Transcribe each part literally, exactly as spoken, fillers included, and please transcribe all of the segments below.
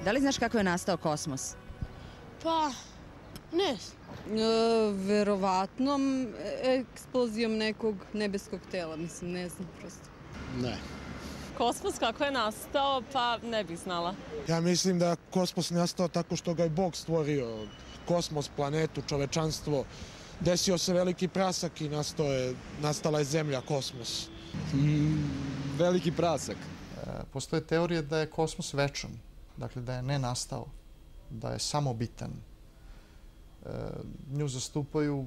Da li znaš kako je nastao kosmos? Pa, ne. E, verovatnom eksplozijom nekog nebeskog tela, mislim, ne znam prosto. Ne. Kosmos kako je nastao, pa ne bih znala. Ja mislim da kosmos nastao tako što ga je Bog stvorio. Kosmos, planetu, čovečanstvo. Desio se veliki prasak i nastao je, nastala je zemlja, kosmos. Mm, veliki prasak. Postoje teorije da je kosmos večan, dakle da je ne nastao, da je samobitan. Nju zastupaju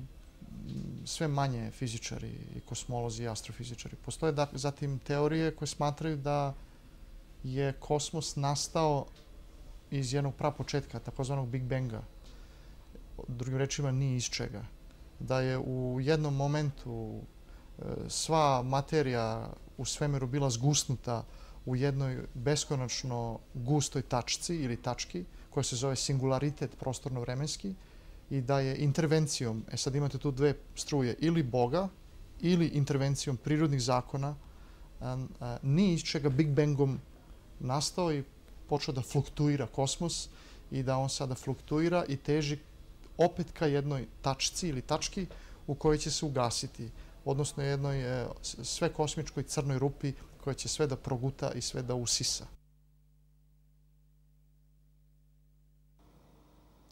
sve manje fizičari i kosmolozi i astrofizičari. Postoje zatim teorije koje smatraju da je kosmos nastao iz jednog prapočetka, takozvanog Big Banga. Drugim rečima, ni iz čega. Da je u jednom momentu sva materija u svemiru bila zgusnuta u jednoj beskonačno gustoj tačci ili tački koja se zove singularitet prostorno-vremenski i da je intervencijom, e sad imate tu dve struje, ili Boga ili intervencijom prirodnih zakona, ni iz čega Big Bangom nastao i počeo da fluktuira kosmos i da on sada fluktuira i teži opet ka jednoj tačci ili tački u kojoj će se ugasiti, odnosno jednoj sve kosmičkoj crnoj rupi koja će sve da proguta i sve da usisa.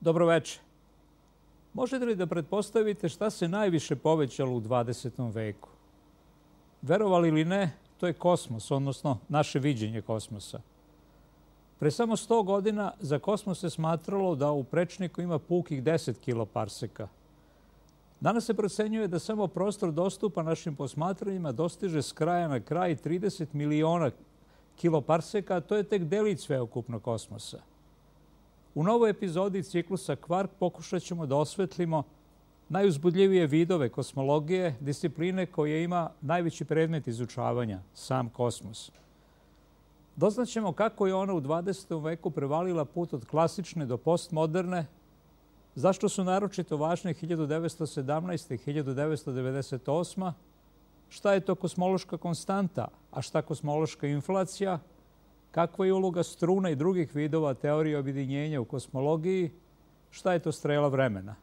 Dobro večer. Možete li da pretpostavite šta se najviše povećalo u dvadesetom veku? Verovali ili ne, to je kosmos, odnosno naše viđenje kosmosa. Pre samo sto godina za kosmos se smatralo da u prečniku ima pukih deset kiloparseka. Danas se procenjuje da samo prostor dostupa našim posmatranjima dostiže s kraja na kraj trideset miliona kiloparseka, a to je tek delić sveukupnog kosmosa. U novoj epizodi ciklusa Kvark pokušat ćemo da osvetlimo najuzbudljivije vidove kosmologije, discipline koje ima najveći predmet izučavanja, sam kosmos. Doznaćemo kako je ona u dvadesetom veku prevalila put od klasične do postmoderne, zašto su naročito važne hiljadu devetsto sedamnaesta. i hiljadu devetsto devedeset osma. Šta je to kosmološka konstanta, a šta kosmološka inflacija, kakva je uloga struna i drugih vidova teorije objedinjenja u kosmologiji, šta je to strela vremena.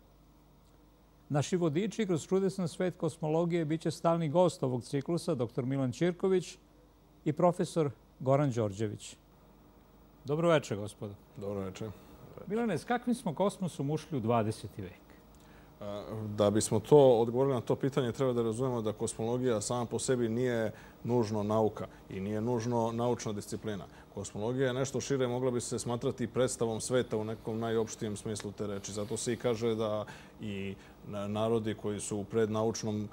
Naši vodiči kroz čudesan svet kosmologije bit će stalni gost ovog ciklusa, doktor Milan Ćirković i profesor Goran Đorđević. Dobro večer, gospodo. Dobro večer. Milane, s kakvim smo kosmosom ušli u dvadeseti vek? Da bismo to odgovorili na to pitanje, treba da razumemo da kosmologija sama po sebi nije nužno nauka i nije nužno naučna disciplina. Kosmologija je nešto šire, mogla bi se smatrati predstavom sveta u nekom najopštijem smislu te reči. Zato se i kaže da i narodi koji su u prednaučnom,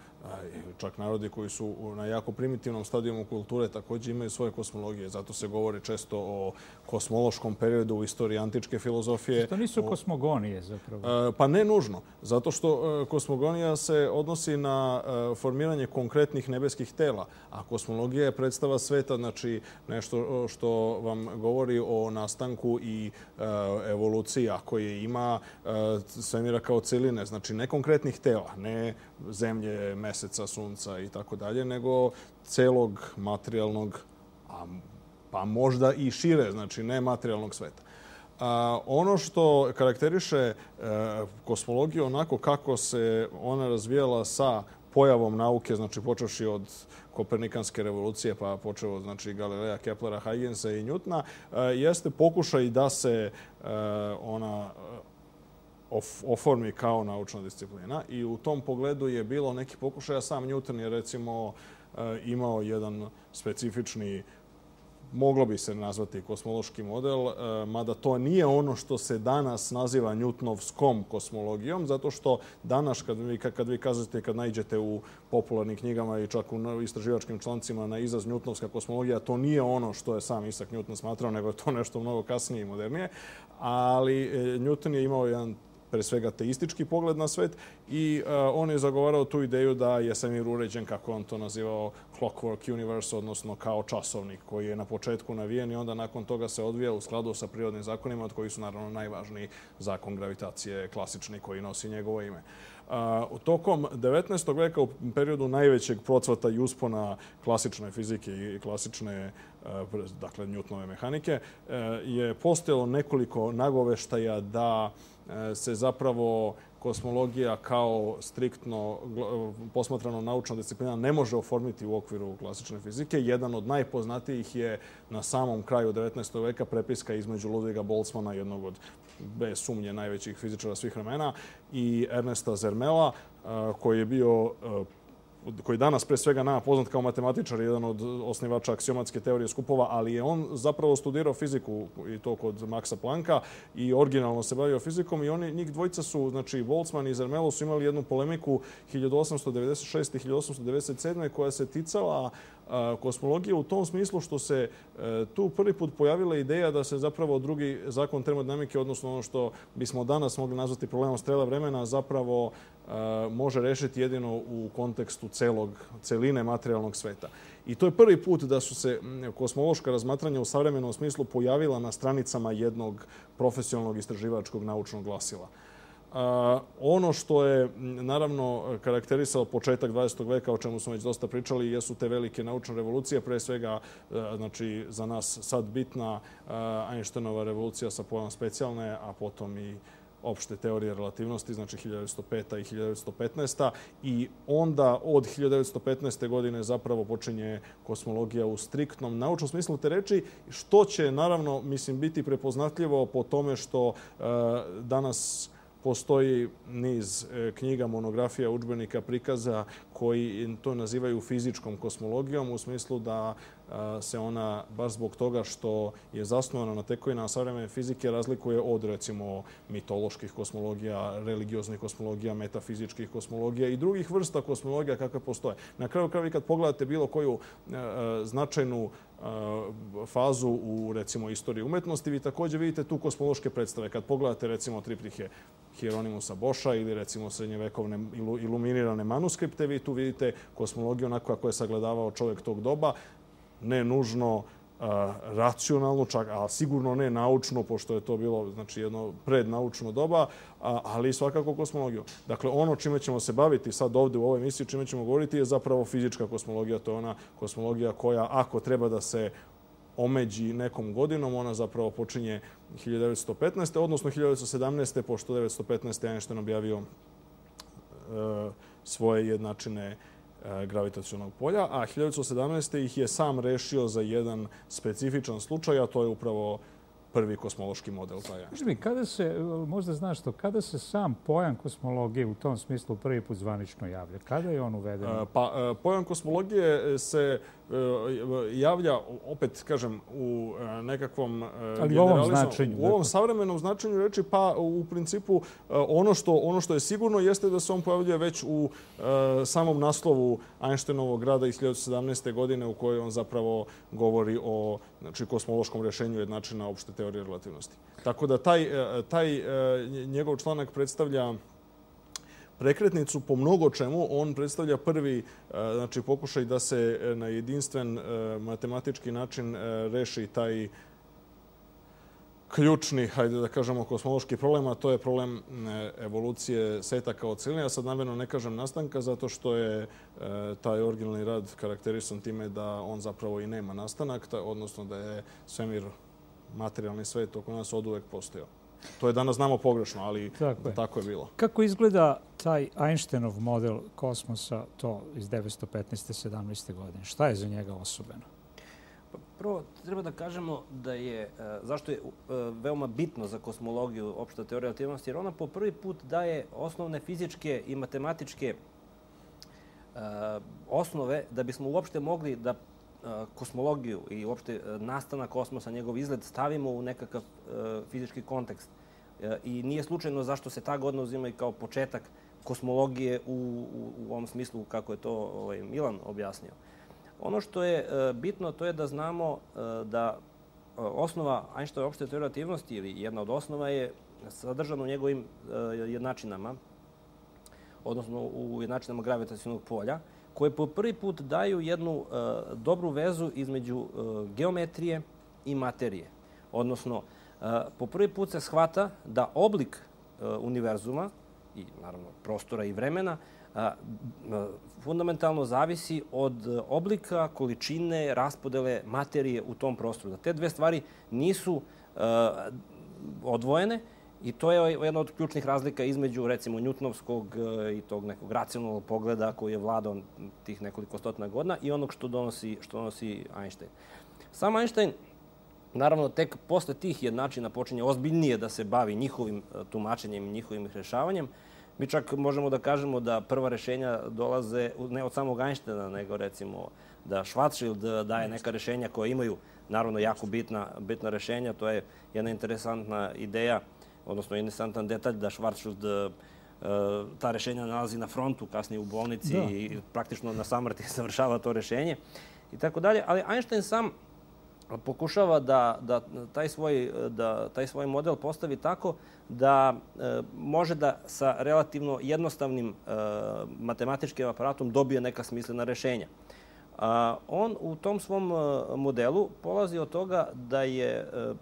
čak narodi koji su na jako primitivnom stadijumu kulture također imaju svoje kosmologije. Zato se govori često o kosmološkom periodu u istoriji antičke filozofije. To nisu kosmogonije zapravo? Pa ne nužno. Zato što kosmogonija se odnosi na formiranje konkretnih nebeskih tela, a kosmologija je predstava sveta, znači nešto što vam govori o nastanku i evoluciji, a koje ima svemira kao celine, znači ne konkretnih tela, ne zemlje, meseca, sunca i tako dalje, nego celog materijalnog, pa možda i šire, znači ne materijalnog sveta. Ono što karakteriše kosmologiju onako kako se ona razvijala sa pojavom nauke, znači počevši od Kopernikanske revolucije, pa počeo od znači, Galileja, Keplera, Huygensa i Newtona, jeste pokušaj da se ona oformi kao naučna disciplina. I u tom pogledu je bilo neki pokušaja. Sam Newton je recimo imao jedan specifični, moglo bi se nazvati kosmološki model, mada to nije ono što se danas naziva Newtonovskom kosmologijom, zato što danas kad vi, kad vi kažete, kad naiđete u popularnim knjigama i čak u istraživačkim člancima na izraz Newtonovska kosmologija, to nije ono što je sam Isaac Newton smatrao, nego je to nešto mnogo kasnije i modernije. Ali Newton je imao jedan pre svega teistički pogled na svet i on je zagovarao tu ideju da je svemir uređen, kako on to nazivao, clockwork universe, odnosno kao časovnik koji je na početku navijen i onda nakon toga se odvija u skladu sa prirodnim zakonima, od kojih su naravno najvažniji zakon gravitacije, klasični koji nosi njegovo ime. U tokom devetnaestog veka, u periodu najvećeg procvata i uspona klasične fizike i klasične dakle Newtonove mehanike, je postojalo nekoliko nagoveštaja da se zapravo kosmologija kao striktno posmatrano naučna disciplina ne može oformiti u okviru klasične fizike. Jedan od najpoznatijih je na samom kraju devetnaestog veka prepiska između Ludviga Boltzmana, jednog od bez sumnje najvećih fizičara svih vremena, i Ernesta Zermela, koji je bio koji danas pre svega nama poznat kao matematičar, jedan od osnivača aksiomatske teorije skupova, ali je on zapravo studirao fiziku i to kod Maxa Plancka i originalno se bavio fizikom i oni, njih dvojica su, znači Boltzmann i Zermelo su imali jednu polemiku hiljadu osamsto devedeset šeste. i hiljadu osamsto devedeset sedme. koja se ticala kosmologije u tom smislu što se tu prvi put pojavila ideja da se zapravo drugi zakon termodinamike, odnosno ono što bismo danas mogli nazvati problemom strela vremena, zapravo može rešiti jedino u kontekstu celog, celine materijalnog sveta. I to je prvi put da su se kosmološka razmatranja u savremenom smislu pojavila na stranicama jednog profesionalnog istraživačkog naučnog glasila. Uh, ono što je naravno karakterisalo početak dvadesetog veka, o čemu smo već dosta pričali, jesu te velike naučne revolucije, pre svega uh, znači, za nas sad bitna uh, Einsteinova revolucija sa pojmom specijalne, a potom i opšte teorije relativnosti, znači hiljadu devetsto peta. i hiljadu devetsto petnaesta. I onda od hiljadu devetsto petnaeste. godine zapravo počinje kosmologija u striktnom naučnom smislu te reči, što će naravno, mislim, biti prepoznatljivo po tome što uh, danas postoji niz knjiga, monografija, udžbenika, prikaza koji to nazivaju fizičkom kosmologijom u smislu da se ona, baš zbog toga što je zasnovana na tekovinama savremene fizike, razlikuje od, recimo, mitoloških kosmologija, religioznih kosmologija, metafizičkih kosmologija i drugih vrsta kosmologija kakve postoje. Na kraju kraju, kad pogledate bilo koju značajnu fazu u, recimo, istoriji umetnosti, vi također vidite tu kosmološke predstave. Kad pogledate, recimo, triplihe Hieronymusa Boscha ili, recimo, srednjevekovne iluminirane manuskripte, vi tu vidite kosmologiju onako kako je sagledavao čovjek tog doba, ne nužno racionalno, čak, a sigurno ne naučno, pošto je to bilo, znači, jedno prednaučno doba, ali svakako kosmologiju. Dakle, ono čime ćemo se baviti sad ovdje u ovoj emisiji, čime ćemo govoriti, je zapravo fizička kosmologija. To je ona kosmologija koja, ako treba da se omeđi nekom godinom, ona zapravo počinje hiljadu devetsto petnaeste. odnosno hiljadu devetsto sedamnaeste. pošto devetsto petnaeste. Einstein objavio e, svoje jednačine gravitacionog polja, a hiljadu devetsto sedamnaeste. ih je sam rešio za jedan specifičan slučaj, a to je upravo prvi kosmološki model. Kaži mi, kada se, možda znaš to, kada se sam pojam kosmologije u tom smislu prvi put zvanično javlja? Kada je on uveden? Pa, pojam kosmologije se javlja, opet kažem, u nekakvom ali u ovom značenju. U ovom savremenom značenju reči, pa u principu ono što, ono što je sigurno jeste da se on pojavljuje već u samom naslovu Einsteinovog rada iz hiljadu devetsto sedamnaeste. godine u kojoj on zapravo govori o, znači, kosmološkom rešenju jednačina opšte teorije relativnosti. Tako da taj, taj njegov članak predstavlja prekretnicu po mnogo čemu. On predstavlja prvi, znači, pokušaj da se na jedinstven matematički način reši taj ključni, hajde da kažemo, kosmološki problem, a to je problem evolucije sveta kao celine. Ja sad namjerno ne kažem nastanka, zato što je taj originalni rad karakterisan time da on zapravo i nema nastanak, odnosno da je svemir, materijalni svet oko nas oduvek postojao. To je danas znamo pogrešno, ali tako je, tako je bilo. Kako izgleda taj Einsteinov model kosmosa, to iz devetsto petnaeste. sedamnaeste. godine? Šta je za njega osobeno? Prvo, treba da kažemo da je, zašto je veoma bitno za kosmologiju opšta teorija relativnosti, jer ona po prvi put daje osnovne fizičke i matematičke osnove da bismo uopšte mogli da kosmologiju i uopšte nastanak kosmosa, njegov izgled, stavimo u nekakav fizički kontekst. I nije slučajno zašto se ta godina uzima i kao početak kosmologije u, u ovom smislu kako je to ovaj, Milan objasnio. Ono što je bitno, to je da znamo da osnova Einsteinove opšte teorije relativnosti ili jedna od osnova je sadržana u njegovim jednačinama, odnosno u jednačinama gravitacionog polja, koje po prvi put daju jednu dobru vezu između geometrije i materije. Odnosno, po prvi put se shvata da oblik univerzuma i, naravno, prostora i vremena fundamentalno zavisi od oblika, količine, raspodele materije u tom prostoru. Da te dve stvari nisu odvojene i to je jedna od ključnih razlika između, recimo, Newtonovskog i tog nekog racionalnog pogleda koji je vladao tih nekoliko stotina godina i onog što donosi, što donosi Einstein. Sam Einstein, naravno, tek posle tih jednačina počinje ozbiljnije da se bavi njihovim tumačenjem i njihovim rešavanjem. Mi čak možemo da kažemo da prva rešenja dolaze ne od samog Einsteina, nego recimo da Schwarzschild daje neka rešenja koja imaju, naravno, jako bitna, bitna rešenja. To je jedna interesantna ideja, odnosno interesantan detalj da Schwarzschild ta rešenja nalazi na frontu, kasnije u bolnici i praktično na samrti završava to rešenje i tako dalje. Ali Einstein sam pokušava da, da, taj svoj, da taj svoj model postavi tako da e, može da sa relativno jednostavnim e, matematičkim aparatom dobije neka smislena rešenja. A, on u tom svom modelu polazi od toga da je e,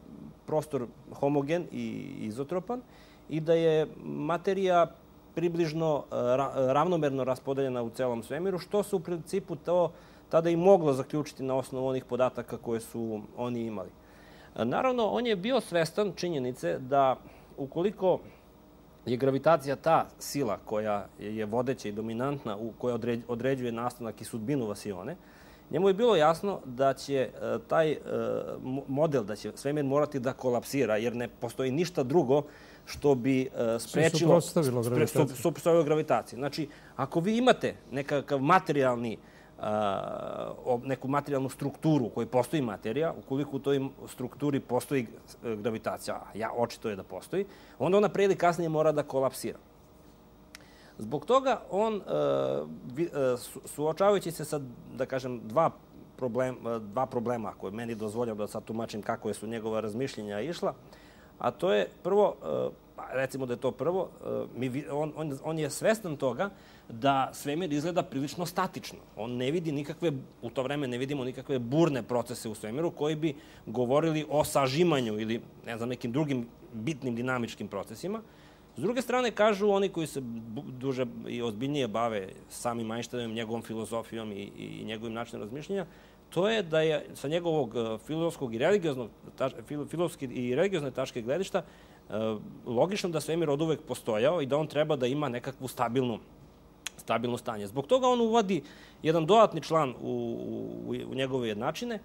prostor homogen i izotropan i da je materija približno ra, ravnomerno raspodeljena u celom svemiru, što se u principu to tada i moglo zaključiti na osnovu onih podataka koje su oni imali. Naravno, on je bio svestan činjenice da ukoliko je gravitacija ta sila koja je vodeća i dominantna, koja određuje nastanak i sudbinu vasione, njemu je bilo jasno da će taj model, da će svemir morati da kolapsira, jer ne postoji ništa drugo što bi sprečilo suprotstavilo gravitaciji. Znači, ako vi imate nekakav materijalni neku materijalnu strukturu u kojoj postoji materija, ukoliko u toj strukturi postoji gravitacija, a ja očito je da postoji, onda ona pre ili kasnije mora da kolapsira. Zbog toga on, suočavajući se sa, da kažem, dva problema, dva problema koje meni dozvoljava da sad tumačim kako su njegova razmišljenja išla, a to je prvo, recimo da je to prvo, on, on, on je svestan toga da svemir izgleda prilično statično. On ne vidi nikakve, u to vreme ne vidimo nikakve burne procese u svemiru koji bi govorili o sažimanju ili, ne znam, nekim drugim bitnim dinamičkim procesima. S druge strane, kažu oni koji se duže i ozbiljnije bave samim Einsteinom, njegovom filozofijom i, i njegovim načinom razmišljenja, to je da je sa njegovog filozofskog i religioznog, filozofske i religiozne tačke gledišta logično da svemir od uvek postojao i da on treba da ima nekakvu stabilnu, stabilno stanje. Zbog toga on uvodi jedan dodatni član u, u, u njegove jednačine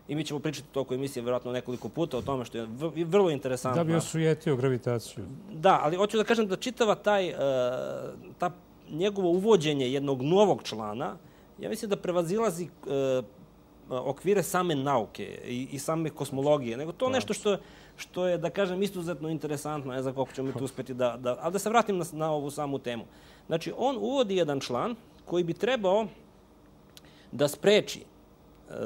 i mi ćemo pričati toliko emisije vjerojatno nekoliko puta o tome što je vrlo interesantno. Da bi osujetio gravitaciju. Da, ali hoću da kažem da čitava taj, ta njegovo uvođenje jednog novog člana, ja mislim da prevazilazi okvire same nauke i, i same kosmologije, nego to nešto što, što je, da kažem, izuzetno interesantno, ne znam koliko ćemo mi tu uspjeti da, da... Ali da se vratim na, na ovu samu temu. Znači, on uvodi jedan član koji bi trebao da spreči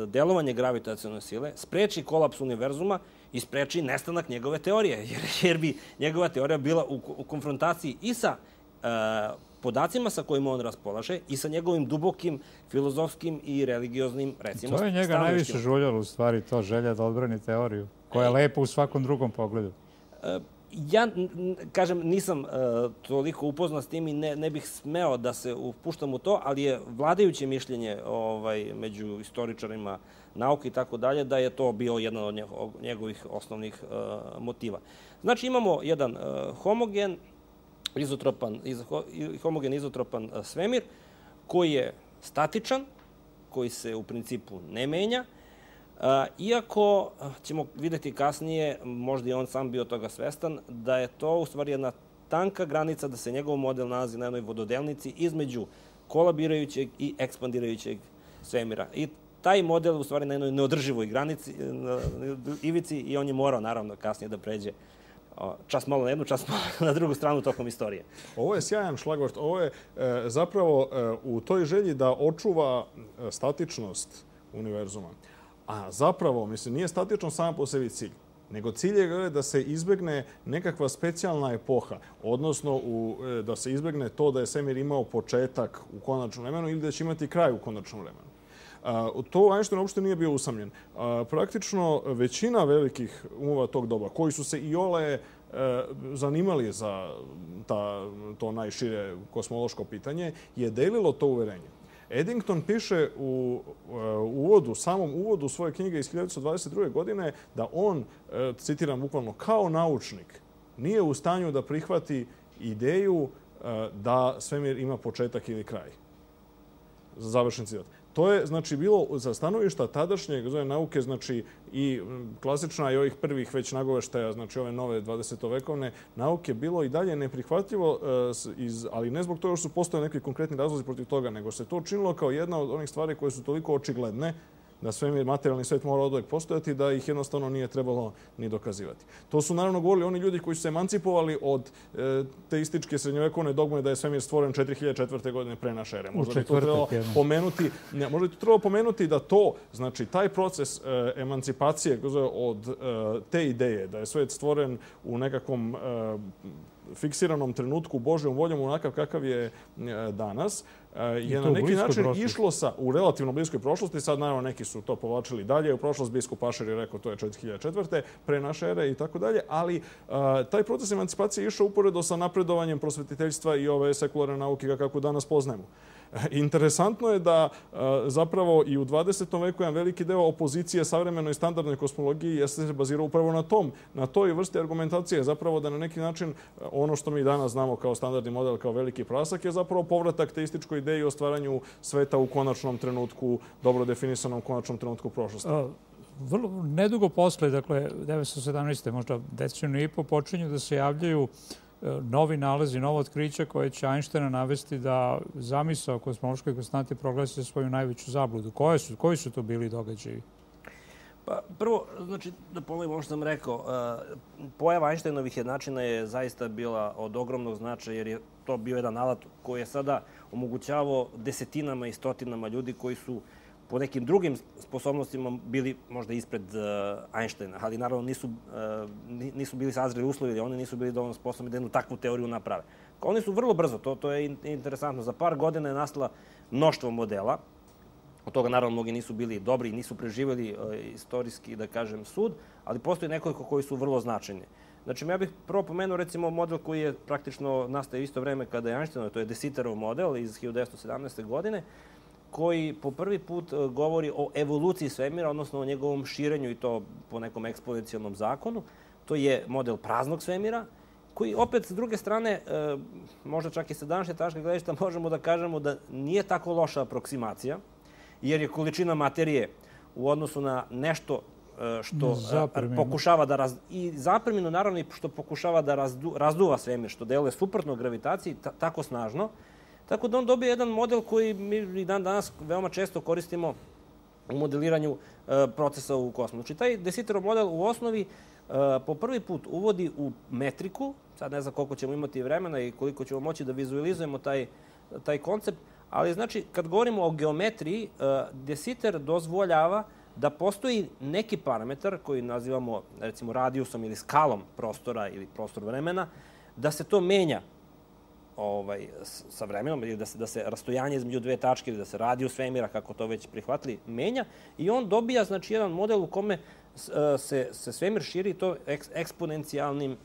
delovanje gravitacione sile, spreči kolaps univerzuma i spreči nestanak njegove teorije, jer, jer bi njegova teorija bila u, u konfrontaciji i sa uh, podacima sa kojima on raspolaže i sa njegovim dubokim filozofskim i religioznim, recimo, to je njega najviše žuljalo, u stvari, to želja da odbrani teoriju, koja je lepa u svakom drugom pogledu. Ja, kažem, nisam toliko upoznat s tim i ne, ne bih smeo da se upuštam u to, ali je vladajuće mišljenje ovaj, među istoričarima nauke i tako dalje, da je to bio jedan od njegovih osnovnih motiva. Znači, imamo jedan homogen, izotropan, homogen izotropan svemir koji je statičan, koji se u principu ne menja, iako ćemo vidjeti kasnije, možda i on sam bio toga svestan, da je to u stvari jedna tanka granica, da se njegov model nalazi na jednoj vododelnici između kolabirajućeg i ekspandirajućeg svemira. I taj model u stvari na jednoj neodrživoj granici, ivici, i on je morao naravno kasnije da pređe čas malo na jednu, čas malo na drugu stranu tokom istorije. Ovo je sjajan šlagvort. Ovo je e, zapravo e, u toj želji da očuva statičnost univerzuma. A zapravo, mislim, nije statično samo po sebi cilj, nego cilj je da se izbegne nekakva specijalna epoha, odnosno u, da se izbegne to da je svemir imao početak u konačnom vremenu ili da će imati kraj u konačnom vremenu. To Einstein uopšte nije bio usamljen. Praktično većina velikih umova tog doba, koji su se i ole zanimali za ta, to najšire kosmološko pitanje, je delilo to uverenje. Eddington piše u uvodu, samom uvodu svoje knjige iz hiljadu devetsto dvadeset druge. godine da on, citiram bukvalno, kao naučnik nije u stanju da prihvati ideju da svemir ima početak ili kraj. Završen citat. To je, znači, bilo za stanovišta tadašnjeg nauke, znači, i klasična i ovih prvih već nagoveštaja, znači ove nove dvadesetovekovne nauke, bilo i dalje neprihvatljivo, ali ne zbog toga što su postojali neki konkretni razlozi protiv toga, nego se to učinilo kao jedna od onih stvari koje su toliko očigledne da svemir, materijalni svet mora oduvek postojati, da ih jednostavno nije trebalo ni dokazivati. To su naravno govorili oni ljudi koji su se emancipovali od teističke srednjovekovne dogme da je svemir stvoren četiri hiljade četvrte. godine pre naše ere. Možda bi to trebalo pomenuti, možda bi to trebalo pomenuti da to, znači taj proces emancipacije od te ideje da je svet stvoren u nekakvom fiksiranom trenutku Božjom voljom onakav kakav je danas, je na neki način išlo sa, u relativno bliskoj prošlosti. Sad naravno neki su to povlačili dalje. U prošlost biskup Ašer je rekao to je četiri hiljade četvrte. pre naše ere i tako dalje. Ali taj proces emancipacije je išao uporedo sa napredovanjem prosvetiteljstva i ove sekularne nauke kako danas poznajemo. Interesantno je da zapravo i u dvadesetom veku jedan veliki deo opozicije savremenoj standardnoj kosmologiji jeste se bazirao upravo na tom, na toj vrsti argumentacije. Zapravo da na neki način ono što mi danas znamo kao standardni model, kao veliki prasak, je zapravo povratak teističkoj ideji o stvaranju sveta u konačnom trenutku, dobro definisanom konačnom trenutku prošlosti. Vrlo nedugo posle, dakle, devetsto sedamnaeste. možda deceniju i po, počinju da se javljaju novi nalazi, novo otkrića koje će Einsteina navesti da zamisao kosmološke konstante proglasi za svoju najveću zabludu. Koje su, koji su to bili događaji? Pa prvo, znači, da ponovim ono što sam rekao, pojava Einsteinovih jednačina je zaista bila od ogromnog značaja jer je to bio jedan alat koji je sada omogućavao desetinama i stotinama ljudi koji su po nekim drugim sposobnostima bili možda ispred Einsteina, ali naravno nisu, nisu bili sazreli uslovi, oni nisu bili dovoljno sposobni da jednu takvu teoriju naprave. Oni su vrlo brzo, to, to je interesantno, za par godina je nastala mnoštvo modela, od toga naravno mnogi nisu bili dobri i nisu preživjeli istorijski, da kažem, sud, ali postoji nekoliko koji su vrlo značajni. Znači, ja bih prvo pomenuo recimo model koji je praktično nastao isto vreme kada je Einsteinov, to je De Sitterov model iz hiljadu devetsto sedamnaeste. godine, koji po prvi put govori o evoluciji svemira, odnosno o njegovom širenju i to po nekom eksponencijalnom zakonu. To je model praznog svemira, koji opet s druge strane, možda čak i sa današnje tačke gledišta, možemo da kažemo da nije tako loša aproksimacija, jer je količina materije u odnosu na nešto što pokušava da raz... i zapreminu naravno i što pokušava da razdu... razduva svemir, što deluje suprotno gravitaciji tako snažno. Tako da on dobije jedan model koji mi i dan danas veoma često koristimo u modeliranju procesa u kosmosu. Znači, taj De Sitterov model u osnovi po prvi put uvodi u metriku, sad ne znam koliko ćemo imati vremena i koliko ćemo moći da vizualizujemo taj, taj koncept, ali znači, kad govorimo o geometriji, De Sitter dozvoljava da postoji neki parametar koji nazivamo, recimo, radijusom ili skalom prostora ili prostor vremena, da se to menja ovaj, sa vremenom, ili da se, da se rastojanje između dve tačke ili da se radijus svemira, kako to već prihvatili, menja. I on dobija, znači, jedan model u kome se, se svemir širi to eks, eksponencijalnim,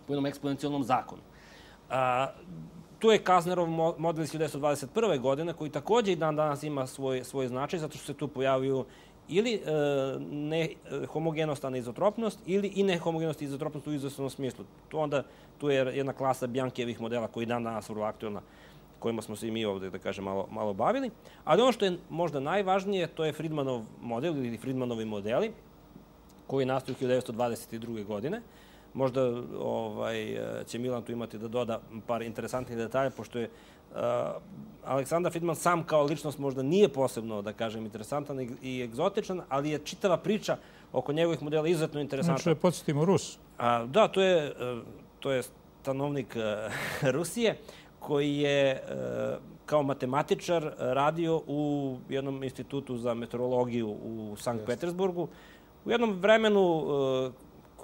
po jednom eksponencijalnom zakonu. A, tu je Kaznerov model iz hiljadu devetsto dvadeset prve. godine, koji također i dan danas ima svoj, svoj značaj, zato što se tu pojavljuju ili e, nehomogenost, aneizotropnost, ili i nehomogenost i izotropnost u izvesnom smislu. Tu onda tu je jedna klasa Biankijevih modela koji dan danas vrlo aktualna, kojima smo se i mi ovdje, da kažem, malo, malo bavili. Ali ono što je možda najvažnije, to je Friedmanov model ili Friedmanovi modeli, koji nastaju hiljadu devetsto dvadeset druge. godine. Možda ovaj, će Milan tu imati da doda par interesantnih detalja, pošto je uh, Aleksandar Friedman sam kao ličnost možda nije posebno, da kažem, interesantan i egzotičan, ali je čitava priča oko njegovih modela izuzetno interesantna. Znači, podsjetimo Rus. A, da, to je, to je stanovnik uh, Rusije, koji je uh, kao matematičar radio u jednom institutu za meteorologiju u Sankt Petersburgu. U jednom vremenu uh,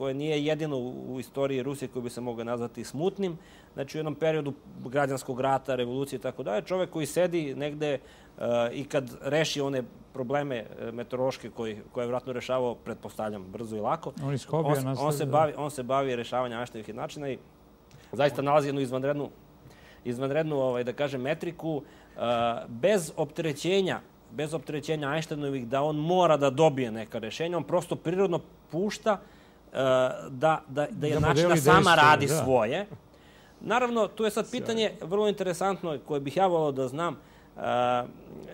koje nije jedino u istoriji Rusije koji bi se mogao nazvati smutnim. Znači, u jednom periodu građanskog rata, revolucije i tako dalje, čovek koji sedi negde i kad reši one probleme meteorološke koje je vjerojatno rešavao, pretpostavljam, brzo i lako, on, on, on, se bavi, on se bavi rešavanjem Einsteinovih načina i zaista nalazi jednu izvanrednu, izvanrednu ovaj, da kažem, metriku bez opterećenja bez opterećenja Einsteinovih da on mora da dobije neka rešenja. On prosto prirodno pušta uh, da, da, da je način da sama radi da. svoje. Naravno, tu je sad pitanje vrlo interesantno koje bih ja volao da znam, uh,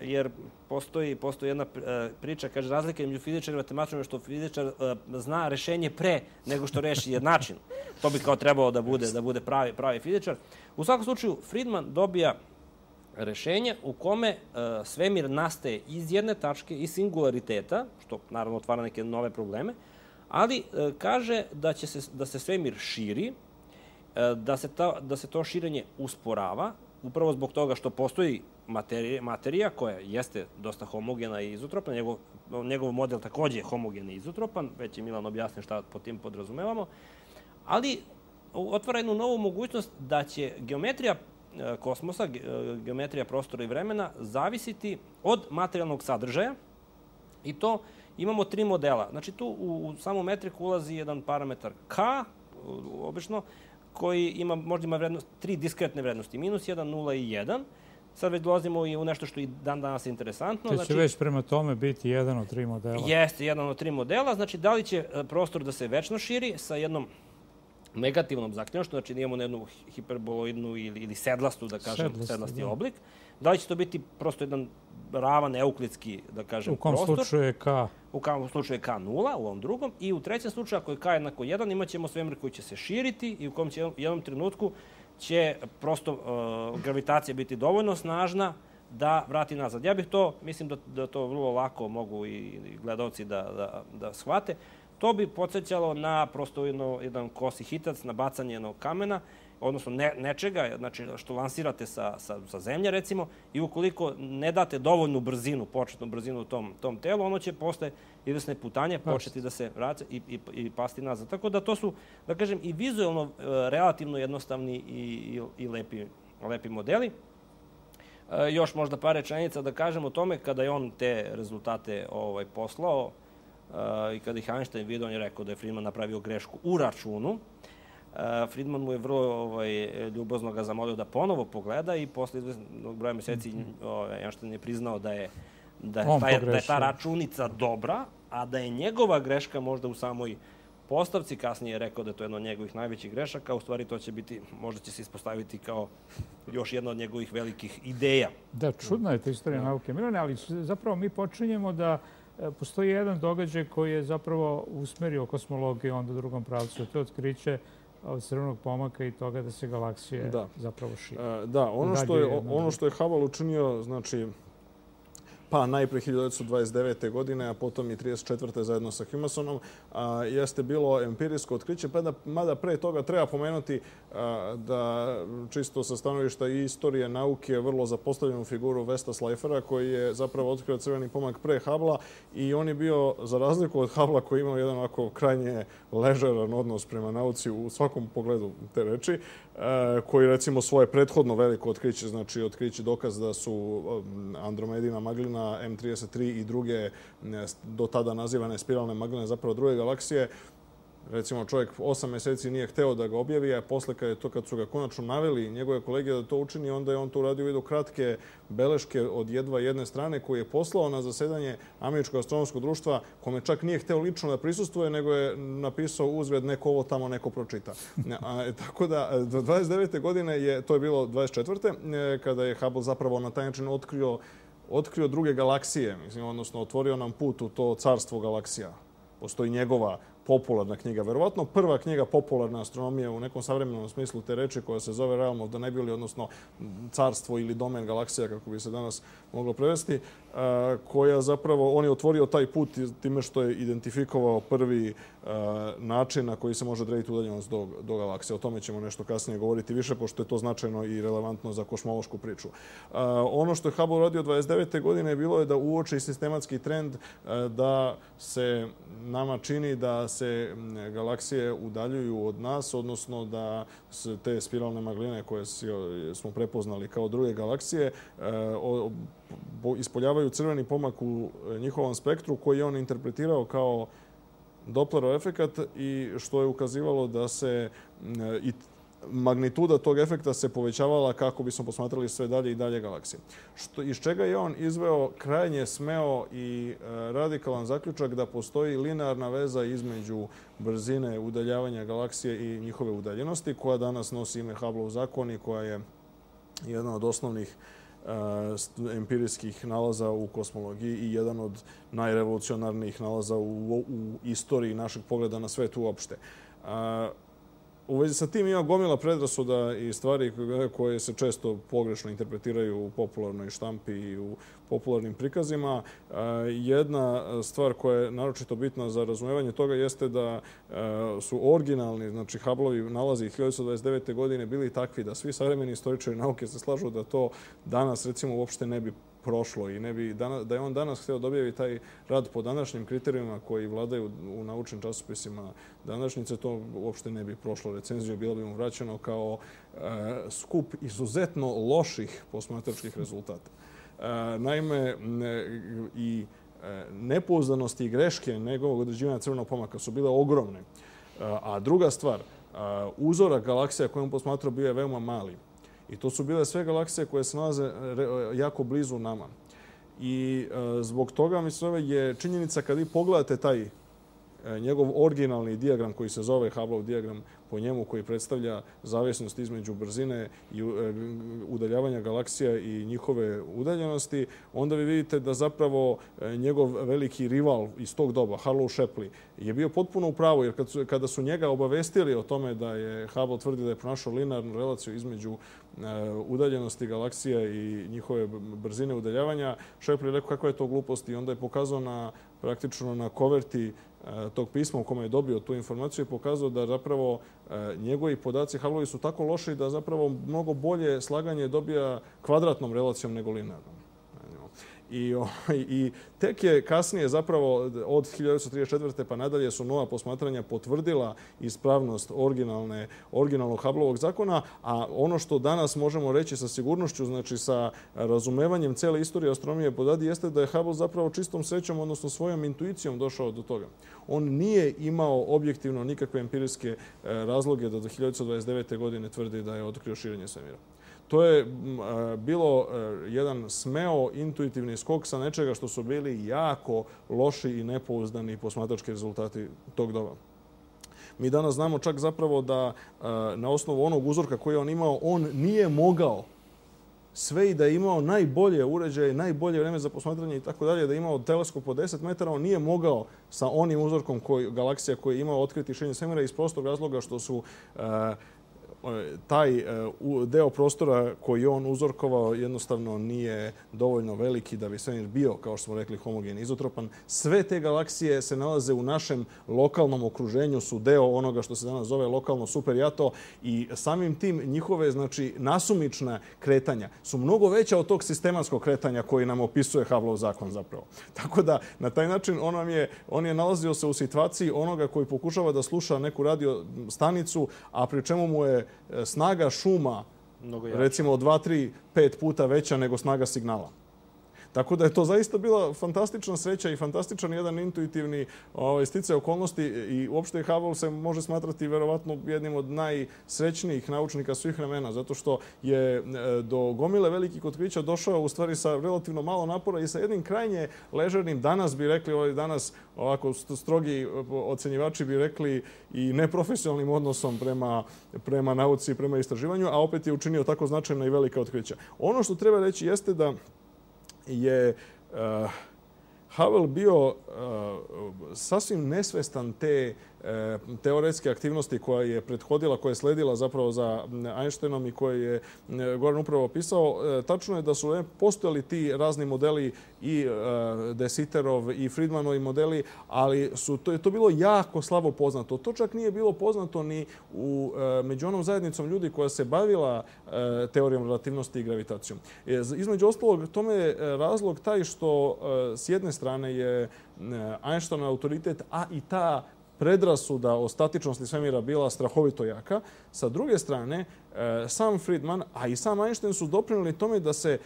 jer postoji, postoji jedna uh, priča, kaže, razlika među fizičarima i matematičarima što fizičar uh, zna rešenje pre nego što reši jednačinu. To bi kao trebalo da bude, da bude pravi, pravi fizičar. U svakom slučaju, Friedman dobija rešenje u kome uh, svemir nastaje iz jedne tačke, iz singulariteta, što naravno otvara neke nove probleme, ali uh, kaže da će se, da se svemir širi, uh, da, se ta, da se to širenje usporava, upravo zbog toga što postoji materija, materija koja jeste dosta homogena i izotropna. Njegov, njegov model takođe je homogen i izotropan, već je Milan objasnio šta po tim podrazumevamo, ali otvara jednu novu mogućnost da će geometrija kosmosa, geometrija prostora i vremena, zavisiti od materijalnog sadržaja i to imamo tri modela. Znači tu u, u samu metriku ulazi jedan parametar K, obično, koji ima, možda ima vrednost, tri diskretne vrednosti, minus jedan, nula i jedan. Sad već dolazimo i u nešto što i dan danas je interesantno. Će znači, već prema tome biti jedan od tri modela. Jeste, jedan od tri modela. Znači, da li će prostor da se večno širi sa jednom negativnom zaključnošću, znači da imamo jednu hiperboloidnu ili, ili sedlastu, da kažem, Sedlasti, sedlasti da. oblik. Da li će to biti prosto jedan ravan euklidski, da kažem, prostor? U kom prostor, slučaju je K? U kom slučaju je K nula, u ovom drugom. I u trećem slučaju, ako je K jednako jedan, imat ćemo svemir koji će se širiti i u kom će u jednom trenutku će prosto uh, gravitacija biti dovoljno snažna da vrati nazad. Ja bih to, mislim da, da to vrlo lako mogu i gledalci da, da, da shvate. To bi podsjećalo na prosto jedno, jedan kosi hitac, na bacanje jednog kamena, odnosno ne, nečega, znači što lansirate sa, sa, sa zemlje, recimo, i ukoliko ne date dovoljnu brzinu, početnu brzinu tom, tom telu, ono će posle izvesne putanje početi da se vraća i, i, i pasti nazad. Tako da to su, da kažem, i vizualno relativno jednostavni i, i, i lepi, lepi modeli. E, još možda par rečenica da kažem o tome kada je on te rezultate ovaj, poslao, Uh, i kada ih Einstein vidio, on je rekao da je Friedman napravio grešku u računu. Uh, Friedman mu je vrlo ovaj, ljubazno ga zamolio da ponovo pogleda i posle izvesnog broja meseci mm -hmm. ovaj, Einstein je priznao da je, da, je taj, da je ta računica dobra, a da je njegova greška možda u samoj postavci. Kasnije je rekao da je to jedna od njegovih najvećih grešaka. U stvari to će biti, možda će se ispostaviti kao još jedna od njegovih velikih ideja. Da, čudna je ta istorija da. nauke, Milane, ali zapravo mi počinjemo da postoji jedan događaj koji je zapravo usmerio kosmologiju onda u drugom pravcu. To je otkriće crvenog pomaka i toga da se galaksije da. zapravo šire. Da, ono što je, ono što je Hubble učinio, znači, pa najpre hiljadu devetsto dvadeset devete. godine, a potom i trideset četvrte. zajedno sa Humasonom, a, jeste bilo empirijsko otkriće, pa da, mada pre toga treba pomenuti a, da čisto sa stanovišta i istorije nauke vrlo zapostavljenu figuru Vesta Slajfera, koji je zapravo otkrio crveni pomak pre Hubble-a i on je bio, za razliku od Hubble-a koji imao jedan ovako krajnje ležeran odnos prema nauci u svakom pogledu te reči, a, koji recimo svoje prethodno veliko otkriće, znači otkriće dokaz da su Andromedina maglina, M trideset tri i druge do tada nazivane spiralne magline, zapravo druge galaksije. Recimo, čovjek osam meseci nije hteo da ga objavi, a posle kad, je to, kad su ga konačno naveli njegove kolege da to učini, onda je on to uradio u vidu kratke beleške od jedva jedne strane koje je poslao na zasedanje Američkog astronomskog društva, kome čak nije hteo lično da prisustvuje, nego je napisao uzvred neko ovo tamo neko pročita. A, tako da, do dvadeset devete. godine je, to je bilo dvadeset četvrte. kada je Hubble zapravo na taj način otkrio otkrio druge galaksije, mislim, odnosno otvorio nam put u to carstvo galaksija. Postoji njegova popularna knjiga, verovatno prva knjiga popularna astronomije u nekom savremenom smislu te reči, koja se zove Realm of the Nebulae, odnosno carstvo ili domen galaksija, kako bi se danas moglo prevesti, koja zapravo, on je otvorio taj put time što je identifikovao prvi način na koji se može odrediti udaljenost do, do galaksije. O tome ćemo nešto kasnije govoriti više, pošto je to značajno i relevantno za kosmološku priču. Ono što je Hubble radio dvadeset devete godine bilo je da uoči sistematski trend da se nama čini da se galaksije udaljuju od nas, odnosno da se te spiralne magline koje smo prepoznali kao druge galaksije ispoljavaju crveni pomak u njihovom spektru koji je on interpretirao kao Dopplerov efekat i što je ukazivalo da se i magnituda tog efekta se povećavala kako bismo posmatrali sve dalje i dalje galaksije. Što, iz čega je on izveo krajnje smeo i radikalan zaključak da postoji linearna veza između brzine udaljavanja galaksije i njihove udaljenosti, koja danas nosi ime Hubbleov zakon i koja je jedna od osnovnih empirijskih nalaza u kosmologiji i jedan od najrevolucionarnijih nalaza u, u istoriji našeg pogleda na svet uopšte. U vezi sa tim ima gomila predrasuda i stvari koje se često pogrešno interpretiraju u popularnoj štampi i u popularnim prikazima. Jedna stvar koja je naročito bitna za razumevanje toga jeste da su originalni, znači Hubbleovi nalazi hiljadu devetsto dvadeset devete godine bili takvi da svi savremeni istoričari nauke se slažu da to danas recimo uopšte ne bi prošlo i ne bi da je on danas htio da objavi taj rad po današnjim kriterijima koji vladaju u naučnim časopisima današnjice, to uopšte ne bi prošlo recenziju, bilo bi mu vraćeno kao skup izuzetno loših posmatračkih rezultata. Naime, i nepouzdanosti i greške njegovog određivanja crvenog pomaka su bile ogromne. A druga stvar, uzorak galaksija koje on posmatrao bio je veoma mali. I to su bile sve galaksije koje se nalaze jako blizu nama. I zbog toga, mislim, je činjenica kad vi pogledate taj njegov originalni dijagram koji se zove Hubbleov dijagram po njemu, koji predstavlja zavisnost između brzine i udaljavanja galaksija i njihove udaljenosti, onda vi vidite da zapravo njegov veliki rival iz tog doba, Harlow Shapley, je bio potpuno u pravu, jer kad su, kada su njega obavestili o tome da je Hubble tvrdi da je pronašao linearnu relaciju između udaljenosti galaksija i njihove brzine udaljavanja, Shapley je rekao kakva je to glupost i onda je pokazao na, praktično na koverti tog pisma u kome je dobio tu informaciju i pokazao da zapravo njegovi podaci Hubbleovi su tako loši da zapravo mnogo bolje slaganje dobija kvadratnom relacijom nego linearnom. I, I tek je kasnije zapravo od hiljadu devetsto trideset četvrte pa nadalje su nova posmatranja potvrdila ispravnost originalne, originalnog Hubbleovog zakona, a ono što danas možemo reći sa sigurnošću, znači sa razumevanjem cele istorije astronomije podadi, jeste da je Hubble zapravo čistom srećom, odnosno svojom intuicijom došao do toga. On nije imao objektivno nikakve empirijske razloge da do hiljadu devetsto dvadeset devete godine tvrdi da je otkrio širenje svemira. To je bilo jedan smeo intuitivni skok sa nečega što su bili jako loši i nepouzdani posmatrački rezultati tog doba. Mi danas znamo čak zapravo da na osnovu onog uzorka koji je on imao, on nije mogao sve i da je imao najbolje uređaje, najbolje vreme za posmatranje i tako dalje, da je imao teleskop od deset metara, on nije mogao sa onim uzorkom koji, galaksija koji je imao otkriti širenje svemira iz prostog razloga što su taj deo prostora koji on uzorkovao jednostavno nije dovoljno veliki da bi svemir bio, kao što smo rekli, homogen, izotropan. Sve te galaksije se nalaze u našem lokalnom okruženju, su deo onoga što se danas zove lokalno superjato i samim tim njihove, znači, nasumična kretanja su mnogo veća od tog sistematskog kretanja koji nam opisuje Hubbleov zakon zapravo. Tako da, na taj način on, nam je, on je nalazio se u situaciji onoga koji pokušava da sluša neku radio stanicu, a pri čemu mu je snaga šuma recimo dva, tri, pet puta veća nego snaga signala. Tako da je to zaista bila fantastična sreća i fantastičan jedan intuitivni ovaj, sticaj okolnosti i uopšte Hubble se može smatrati verovatno jednim od najsrećnijih naučnika svih vremena, zato što je do gomile velikih otkrića došao u stvari sa relativno malo napora i sa jednim krajnje ležernim, danas bi rekli, ovaj, danas ovako strogi ocenjivači bi rekli i neprofesionalnim odnosom prema, prema nauci i prema istraživanju, a opet je učinio tako značajna i velika otkrića. Ono što treba reći jeste da je uh, Hubble bio uh, sasvim nesvestan te teoretske aktivnosti koja je prethodila, koja je sledila zapravo za Einsteinom i koje je Goran upravo opisao, tačno je da su postojali ti razni modeli i De Sitterov i Friedmanovi modeli, ali su, to je to bilo jako slabo poznato. To čak nije bilo poznato ni u, među onom zajednicom ljudi koja se bavila teorijom relativnosti i gravitacijom. Između ostalog, tome je razlog taj što s jedne strane je Einsteinov autoritet, a i ta predrasuda o statičnosti svemira bila strahovito jaka. Sa druge strane, sam Friedman, a i sam Einstein su doprinijeli tome da se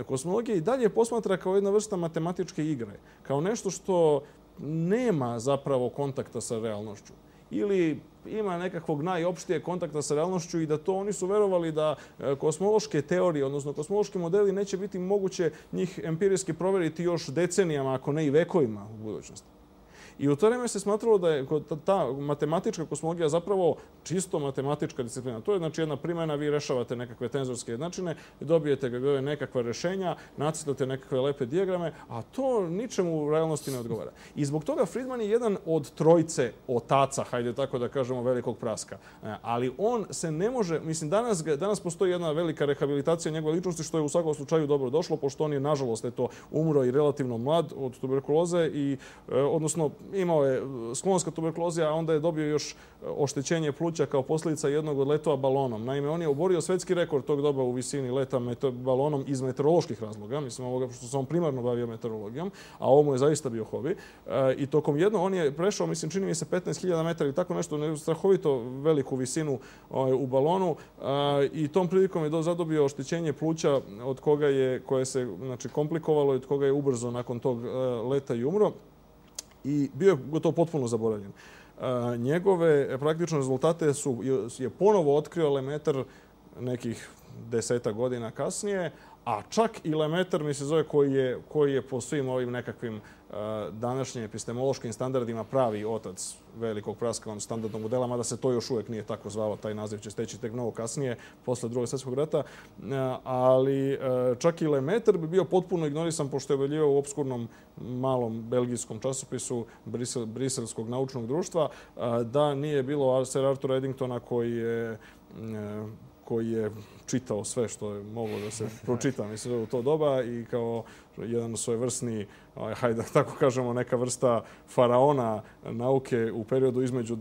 kosmologija i dalje posmatra kao jedna vrsta matematičke igre, kao nešto što nema zapravo kontakta sa realnošću. Ili ima nekakvog najopštije kontakta sa realnošću i da to oni su verovali da kosmološke teorije, odnosno kosmološki modeli, neće biti moguće njih empirijski proveriti još decenijama, ako ne i vekovima u budućnosti. I u to vreme se smatralo da je ta matematička kosmologija zapravo čisto matematička disciplina. To je znači jedna primjena, vi rešavate nekakve tenzorske jednačine, dobijete nekakva rešenja, nacrtate nekakve lepe dijagrame, a to ničemu u realnosti ne odgovara. I zbog toga Friedman je jedan od trojice otaca, hajde tako da kažemo, velikog praska. Ali on se ne može, mislim, danas, danas postoji jedna velika rehabilitacija njegove ličnosti, što je u svakom slučaju dobro došlo, pošto on je, nažalost, eto, umro i relativno mlad od tuberkuloze i, odnosno, imao je sklonost ka tuberkulozi, a onda je dobio još oštećenje pluća kao posljedica jednog od letova balonom. Naime, on je oborio svetski rekord tog doba u visini leta balonom iz meteoroloških razloga, mislim ovoga što se on primarno bavio meteorologijom, a ovo mu je zaista bio hobi. I tokom jedno on je prešao, mislim, čini mi se petnaest hiljada metara ili tako nešto, strahovito veliku visinu u balonu i tom prilikom je zadobio oštećenje pluća od koga je, koje se znači, komplikovalo i od koga je ubrzo nakon tog leta i umro. I bio je gotovo potpuno zaboravljen. Njegove praktične rezultate su, je ponovo otkrio Lemaitre nekih deseta godina kasnije, a čak i Lemaitre, mi se zove, koji je, koji je po svim ovim nekakvim današnjim epistemološkim standardima pravi otac velikog praska standardnog modela, mada se to još uvijek nije tako zvalo, taj naziv će steći tek mnogo kasnije, posle drugog svjetskog rata, ali čak i Lemaitre bi bio potpuno ignorisan, pošto je objavljivao u obskurnom malom belgijskom časopisu Brisel, Briselskog naučnog društva, da nije bilo Sir Arthura Eddingtona koji je koji je čitao sve što je moglo da se pročita, mislim, u to doba i kao jedan svojevrsni, hajde da tako kažemo, neka vrsta faraona nauke u periodu između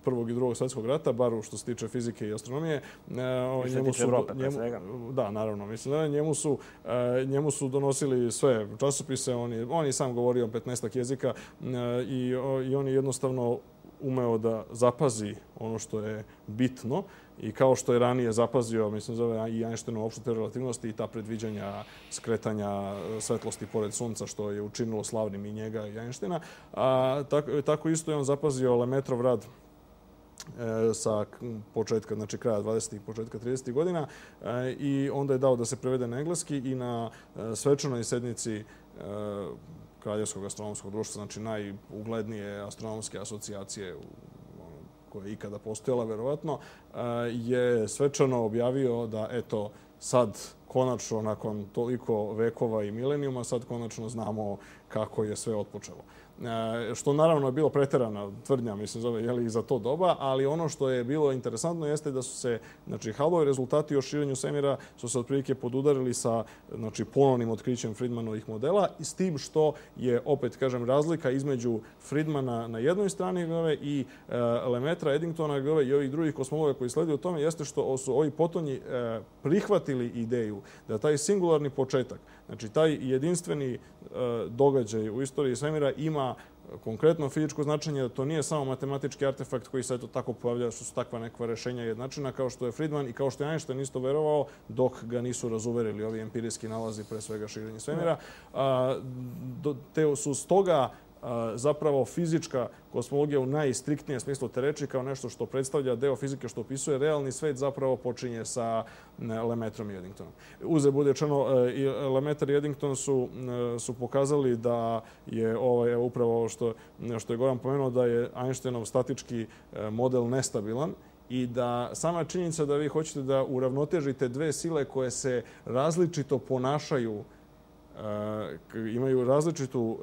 prvog i drugog svjetskog rata, bar što se tiče fizike i astronomije. I što se tiče Evrope, pre svega. Da, naravno. Mislim, njemu su, njemu su donosili sve časopise, on je, on je sam govorio petnaestak jezika i, i on je jednostavno umeo da zapazi ono što je bitno i kao što je ranije zapazio, mislim, zove i Einsteinovu opštu teoriju relativnosti i ta predviđanja skretanja svetlosti pored sunca, što je učinilo slavnim i njega i Einsteina. A, tako, tako isto je on zapazio Lemaitrov rad e, sa početka, znači kraja dvadesetih, početka tridesetih godina e, i onda je dao da se prevede na engleski i na e, svečanoj sednici e, Kraljevskog astronomskog društva, znači najuglednije astronomske asocijacije koja je ikada postojala, verovatno, je svečano objavio da, eto, sad konačno, nakon toliko vekova i milenijuma, sad konačno znamo kako je sve otpočelo. Što naravno je bilo preterana tvrdnja, mislim, zove, jeli, i za to doba, ali ono što je bilo interesantno jeste da su se, znači, Hubbleovi rezultati o širenju svemira su se otprilike podudarili sa, znači, ponovnim otkrićem Friedmanovih modela i s tim što je, opet, kažem, razlika između Friedmana na jednoj strani gove, i uh, Lemaitre, Eddingtona gove, i ovih drugih kosmologa koji sleduju u tome jeste što su ovi potonji uh, prihvatili ideju da taj singularni početak, znači taj jedinstveni uh, događaj u istoriji svemira ima konkretno fizičko značenje, da to nije samo matematički artefakt koji se eto tako pojavlja, što su takva nekva rešenja jednačina, kao što je Friedman i kao što je Einstein isto verovao, dok ga nisu razuverili ovi empirijski nalazi, pre svega širenje svemira. A, do, te su stoga zapravo fizička kosmologija u najstriktnijem smislu te reči, kao nešto što predstavlja deo fizike što opisuje realni svet, zapravo počinje sa Lemaitrom i Eddingtonom. Uze bude rečeno, i Lemaitre i Eddington su, su pokazali da je ovaj, upravo ovo što, što je Goran pomenuo, da je Einsteinov statički model nestabilan i da sama činjenica da vi hoćete da uravnotežite dve sile koje se različito ponašaju imaju različitu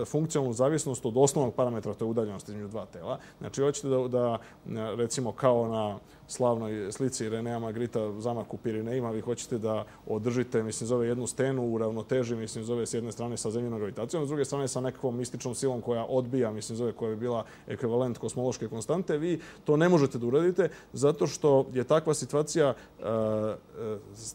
funkcionalnu zavisnost od osnovnog parametra, to je udaljenost između dva tela. Znači, hoćete da, da recimo, kao na slavnoj slici Renea Magrita zamak u Pirinejima, vi hoćete da održite, mislim, zove jednu stenu u ravnoteži, mislim, zove s jedne strane sa zemljenom gravitacijom, s druge strane sa nekakvom mističnom silom koja odbija, mislim, zove koja bi bila ekvivalent kosmološke konstante. Vi to ne možete da uradite zato što je takva situacija e, e,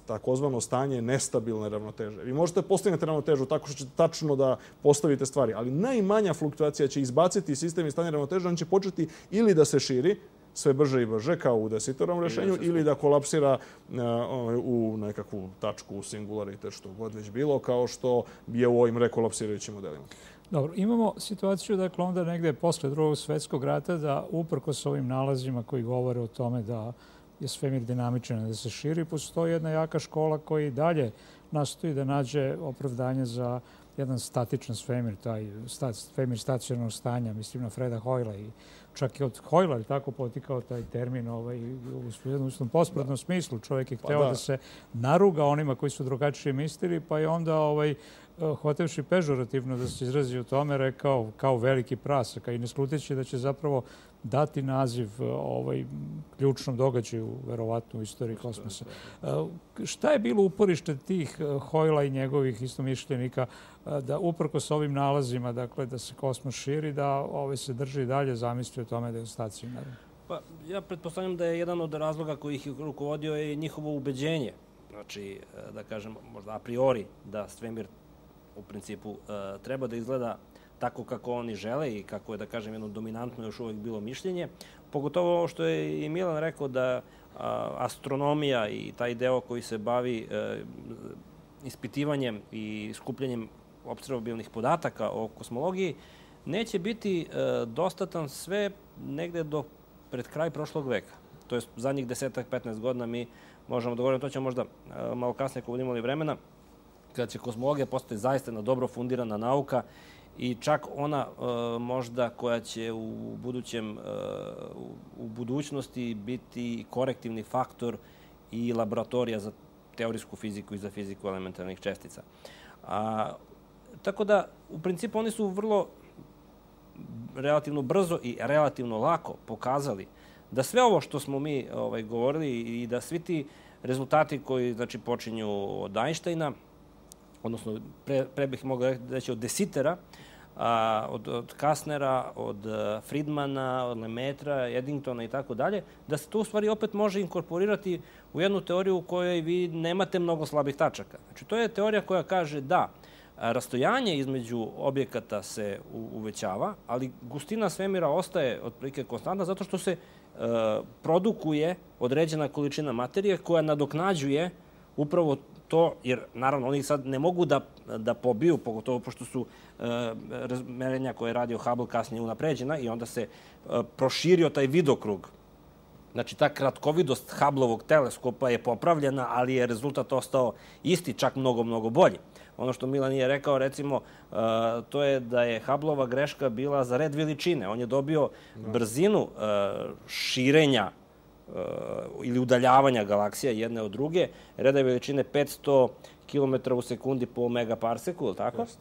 takozvano stanje nestabilne ravnoteže. Vi možete postignete ravnotežu tako što ćete tačno da postavite stvari, ali najmanja fluktuacija će izbaciti sistem iz stanja ravnoteže, on će početi ili da se širi, sve brže i brže, kao u Desitorom rešenju, ili da kolapsira u nekakvu tačku, u singularitet, što god već bilo, kao što je u ovim rekolapsirajućim modelima. Dobro, imamo situaciju, dakle, onda negde posle drugog svjetskog rata da uprkos ovim nalazima koji govore o tome da je svemir dinamičan, da se širi, postoji jedna jaka škola koja i dalje nastoji da nađe opravdanje za jedan statičan svemir, taj svemir stacionarnog stanja, mislim na Freda Hoyla, i čak i od Hoyla je tako potikao taj termin ovaj, u jednom pospratnom smislu. Čovjek je hteo pa da. da se naruga onima koji su drugačije mislili, pa je onda ovaj, hotevši pežorativno da se izrazi o tome, rekao kao veliki prasak, a i ne sluteći da će zapravo dati naziv ovaj, ključnom događaju, verovatno, u istoriji kosmosa. Šta je bilo uporište tih Hoyla i njegovih istomišljenika da uprkos ovim nalazima, dakle, da se kosmos širi, da ovaj, se drži dalje zamisli o tome da je stacionaran? Pa, ja pretpostavljam da je jedan od razloga koji ih rukovodio je njihovo ubeđenje. Znači, da kažem, možda a priori, da svemir u principu treba da izgleda tako kako oni žele i kako je, da kažem, jedno dominantno još uvijek bilo mišljenje. Pogotovo ovo što je i Milan rekao da astronomija i taj deo koji se bavi ispitivanjem i skupljanjem opservabilnih podataka o kosmologiji neće biti dostatan sve negde do pred kraj prošlog veka. To je zadnjih desetak, petnaest godina mi možemo da govorimo, to ćemo možda malo kasnije ako budemo imali vremena, kada će kosmologija postati zaista jedna dobro fundirana nauka i čak ona možda koja će u budućem, u budućnosti biti korektivni faktor i laboratorija za teorijsku fiziku i za fiziku elementarnih čestica. A, tako da, u principu, oni su vrlo relativno brzo i relativno lako pokazali da sve ovo što smo mi ovaj, govorili i da svi ti rezultati koji, znači, počinju od Einsteina, odnosno pre, pre bih mogao reći od Desitera, a, od, od Kastnera, od Friedmana, od Lemaitra, Eddingtona i tako dalje, da se to u stvari opet može inkorporirati u jednu teoriju u kojoj vi nemate mnogo slabih tačaka. Znači, to je teorija koja kaže da rastojanje između objekata se uvećava, ali gustina svemira ostaje otprilike konstantna zato što se e, produkuje određena količina materije koja nadoknađuje upravo to, jer naravno oni sad ne mogu da, da pobiju, pogotovo pošto su e, merenja koje je radio Hubble kasnije unapređena i onda se e, proširio taj vidokrug. Znači, ta kratkovidost Hubbleovog teleskopa je popravljena, ali je rezultat ostao isti, čak mnogo, mnogo bolji. Ono što Milan je rekao, recimo, uh, to je da je Hubbleova greška bila za red veličine. On je dobio brzinu uh, širenja uh, ili udaljavanja galaksija jedne od druge, reda veličine petsto kilometara u sekundi po megaparseku, ili tako? Just.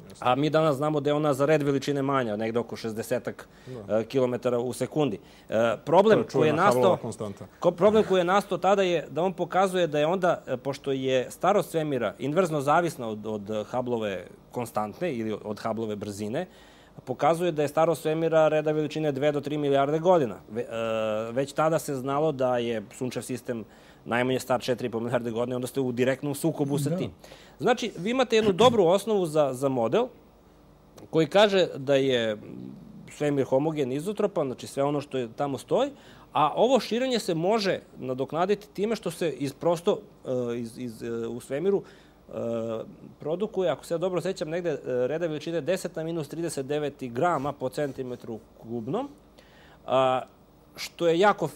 Just. A mi danas znamo da je ona za red veličine manja, negde oko šezdeset kilometara u sekundi. Uh, problem koji je nastao, problem koji je nastao tada je da on pokazuje da je onda, pošto je starost svemira inverzno zavisna od, od Hubbleove konstantne ili od Hubbleove brzine, pokazuje da je starost svemira reda veličine dve do tri milijarde godina. Ve, uh, već tada se znalo da je sunčev sistem najmanje star četiri i po milijarde godina, onda ste u direktnom sukobu sa tim. Znači, vi imate jednu dobru osnovu za, za model koji kaže da je svemir homogen, izotropan, znači sve ono što je tamo stoji, a ovo širenje se može nadoknaditi time što se iz prosto iz, iz, u svemiru produkuje, ako se ja dobro sećam, negde reda veličine deset na minus trideset devet grama po centimetru kubnom, što je jako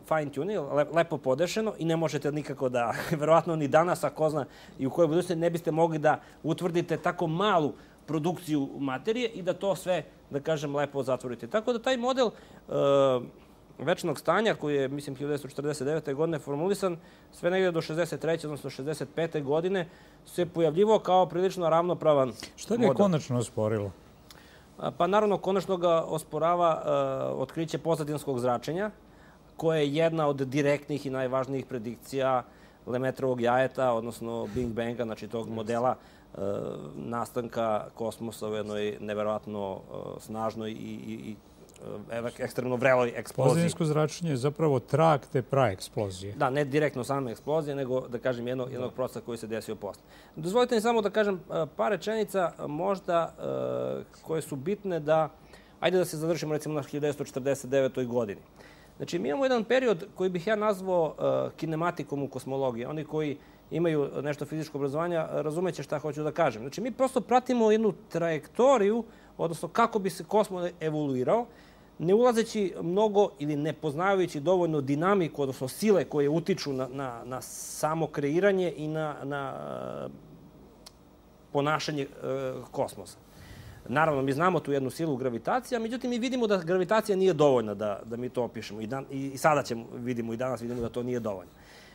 fine tuning, lepo podešeno i ne možete nikako da, verovatno ni danas, ako zna i u kojoj budućnosti, ne biste mogli da utvrdite tako malu produkciju materije i da to sve, da kažem, lepo zatvorite. Tako da taj model večnog stanja koji je, mislim, hiljadu devetsto četrdeset devete. godine formulisan, sve negdje do šezdeset treće. odnosno šezdeset pete. godine se pojavljivo kao prilično ravnopravan model. Šta ga je konačno osporilo? Pa naravno, konačno ga osporava uh, otkriće pozadinskog zračenja, koje je jedna od direktnih i najvažnijih predikcija Lemetrovog jajeta, odnosno Big Banga, znači tog modela uh, nastanka kosmosa u jednoj neverovatno uh, snažnoj i, i, i ekstremno vreloj eksploziji. Pozadinsko zračenje je zapravo trag te praeksplozije. Da, ne direktno same eksplozije, nego, da kažem, jednog, jednog procesa koji se desio posle. Dozvolite mi samo da kažem par rečenica možda koje su bitne da, ajde da se zadržimo recimo na hiljadu devetsto četrdeset devetoj. godini. Znači, mi imamo jedan period koji bih ja nazvao kinematikom u kosmologiji. Oni koji imaju nešto fizičko obrazovanja razumeće šta hoću da kažem. Znači, mi prosto pratimo jednu trajektoriju, odnosno kako bi se kosmos evoluirao, ne ulazeći mnogo ili ne poznavajući dovoljno dinamiku, odnosno sile koje utiču na, na, na samo kreiranje i na, na ponašanje e, kosmosa. Naravno, mi znamo tu jednu silu gravitacija, međutim, mi vidimo da gravitacija nije dovoljna da, da mi to opišemo. I, dan, I sada ćemo, vidimo, i danas vidimo da to nije dovoljno.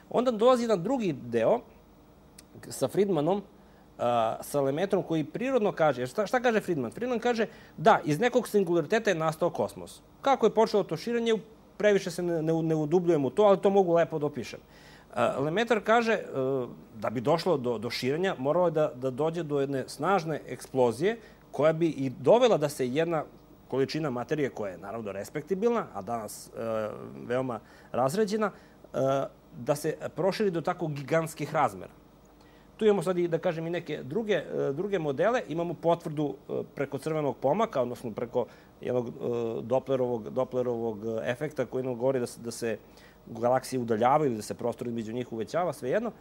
Onda dolazi jedan drugi deo sa Friedmanom, sa Lemetrom, koji prirodno kaže, šta, šta kaže Friedman? Friedman kaže da, iz nekog singulariteta je nastao kosmos. Kako je počelo to širenje, previše se ne, ne, ne udubljujem u to, ali to mogu lepo da opišem. Lemaitre kaže da bi došlo do, do širenja, moralo je da, da dođe do jedne snažne eksplozije koja bi i dovela da se jedna količina materije, koja je naravno respektibilna, a danas e, veoma razređena, e, da se proširi do tako gigantskih razmera. Tu imamo sad i, da kažem, i neke druge, druge modele. Imamo potvrdu preko crvenog pomaka, odnosno preko jednog Doplerovog, Doplerovog efekta koji nam govori da se, da se galaksije udaljavaju ili da se prostor između njih uvećava, svejedno.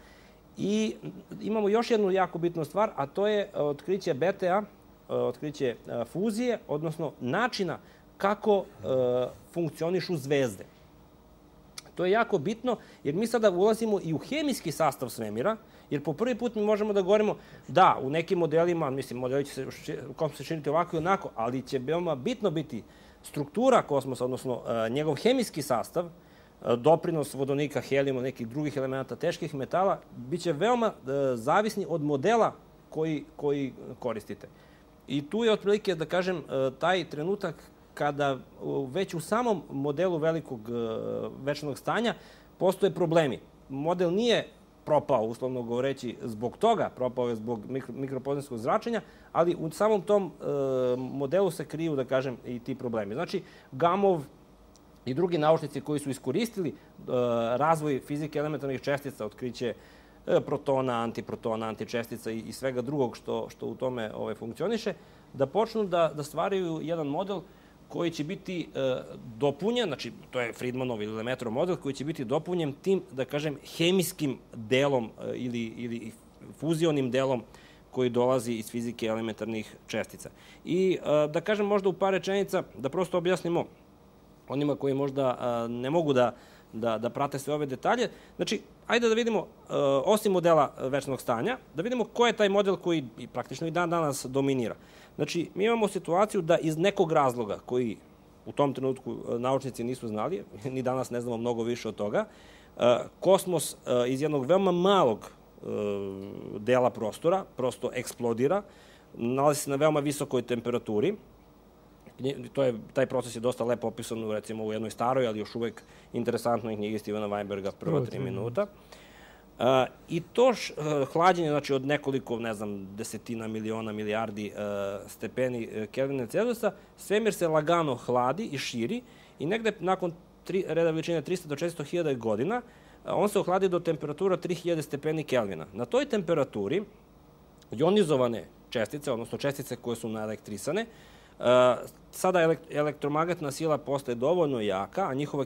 I imamo još jednu jako bitnu stvar, a to je otkriće B T A, otkriće fuzije, odnosno načina kako funkcionišu zvezde. To je jako bitno, jer mi sada ulazimo i u hemijski sastav svemira, jer po prvi put mi možemo da govorimo da, u nekim modelima, mislim, modeli će se, kosmos se činiti ovako i onako, ali će veoma bitno biti struktura kosmosa, odnosno njegov hemijski sastav, doprinos vodonika, helijuma, nekih drugih elemenata, teških metala, bit će veoma zavisni od modela koji, koji koristite. I tu je otprilike, da kažem, taj trenutak kada već u samom modelu velikog večnog stanja postoje problemi. Model nije propao, uslovno govoreći, zbog toga, propao je zbog mikro, mikropozemskog zračenja, ali u samom tom e, modelu se kriju, da kažem, i ti problemi. Znači, Gamov i drugi naučnici koji su iskoristili e, razvoj fizike elementarnih čestica, otkriće e, protona, antiprotona, antičestica i, i svega drugog što, što u tome ovaj, funkcioniše, da počnu da, da stvaraju jedan model koji će biti e, dopunjen, znači to je Friedmanov ili Lemaitrov model, koji će biti dopunjen tim, da kažem, hemijskim delom e, ili, ili fuzionim delom koji dolazi iz fizike elementarnih čestica. I e, da kažem možda u par rečenica, da prosto objasnimo onima koji možda a, ne mogu da, da, da prate sve ove detalje. Znači, ajde da vidimo, a, osim modela večnog stanja, da vidimo ko je taj model koji i praktično i dan danas dominira. Znači, mi imamo situaciju da iz nekog razloga koji u tom trenutku naučnici nisu znali, ni danas ne znamo mnogo više od toga, a, kosmos a, iz jednog veoma malog a, dela prostora prosto eksplodira, nalazi se na veoma visokoj temperaturi. To je, taj proces je dosta lepo opisan recimo u jednoj staroj, ali još uvek interesantnoj knjigi Stevena Weinberga, prva tri minuta. Uh, I to š, uh, hlađenje, znači od nekoliko, ne znam, desetina miliona, milijardi uh, stepeni uh, Kelvina Celzijusa, svemir se lagano hladi i širi i negde nakon tri, reda veličine trista do četiristo hiljada godina uh, on se ohladi do temperatura tri hiljade stepeni Kelvina. Na toj temperaturi ionizovane čestice, odnosno čestice koje su naelektrisane, Uh, sada elektromagnetna sila postaje dovoljno jaka, a njihova,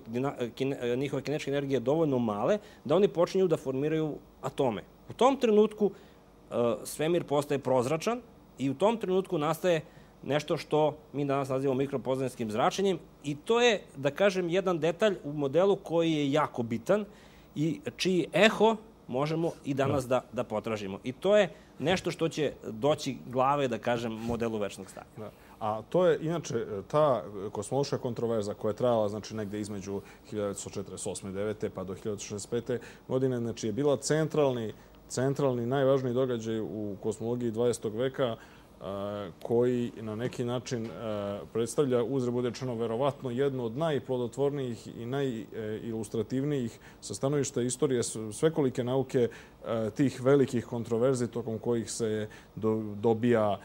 kine, njihove kinetičke energije dovoljno male, da oni počinju da formiraju atome. U tom trenutku uh, svemir postaje prozračan i u tom trenutku nastaje nešto što mi danas nazivamo mikropozemskim zračenjem i to je, da kažem, jedan detalj u modelu koji je jako bitan i čiji eho možemo i danas da, da potražimo. I to je nešto što će doći glave, da kažem, modelu večnog stanja. Da. A to je, inače, ta kosmološka kontroverza koja je trajala, znači, negde između hiljadu devetsto četrdeset osme. devete pa do hiljadu devetsto šezdeset pete. godine, znači, je bila centralni, centralni, najvažniji događaj u kosmologiji dvadesetog veka, koji na neki način predstavlja, uzre bude rečeno, verovatno jednu od najplodotvornijih i najilustrativnijih sa stanovišta istorije svekolike nauke tih velikih kontroverzi tokom kojih se dobija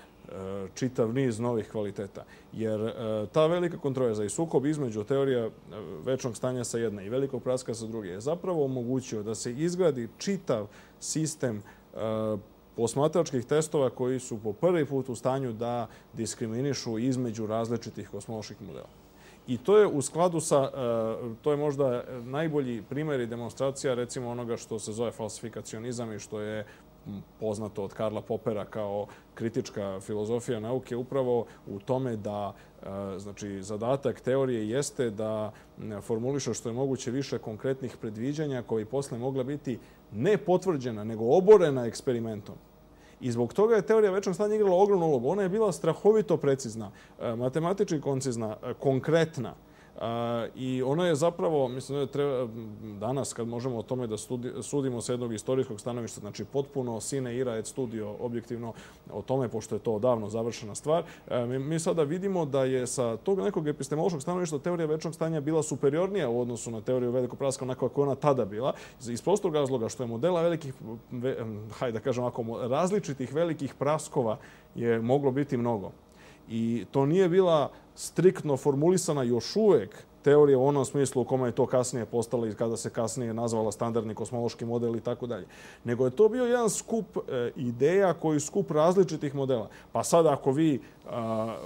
čitav niz novih kvaliteta. Jer ta velika kontroverza i sukob između teorija večnog stanja sa jedne i velikog praska sa druge je zapravo omogućio da se izgradi čitav sistem posmatračkih testova koji su po prvi put u stanju da diskriminišu između različitih kosmoloških modela. I to je u skladu sa, to je možda najbolji primjer i demonstracija recimo onoga što se zove falsifikacionizam i što je poznato od Karla Popera kao kritička filozofija nauke upravo u tome da znači, zadatak teorije jeste da formuliše što je moguće više konkretnih predviđanja koji posle mogla biti ne potvrđena, nego oborena eksperimentom. I zbog toga je teorija večnog stanja igrala ogromnu ulogu. Ona je bila strahovito precizna, matematički koncizna, konkretna. I ono je zapravo, mislim da treba danas kad možemo o tome da sudimo sa jednog istorijskog stanovišta, znači potpuno sine ira et studio objektivno o tome, pošto je to odavno završena stvar, mi sada vidimo da je sa tog nekog epistemološkog stanovišta teorija večnog stanja bila superiornija u odnosu na teoriju velikog praska onako kako je ona tada bila, iz prostog razloga što je modela velikih, hajde da kažem ovako, različitih velikih praskova je moglo biti mnogo. I to nije bila striktno formulisana još uvek teorija u onom smislu u kome je to kasnije postala i kada se kasnije nazvala standardni kosmološki model i tako dalje. Nego je to bio jedan skup ideja koji je skup različitih modela. Pa sad ako vi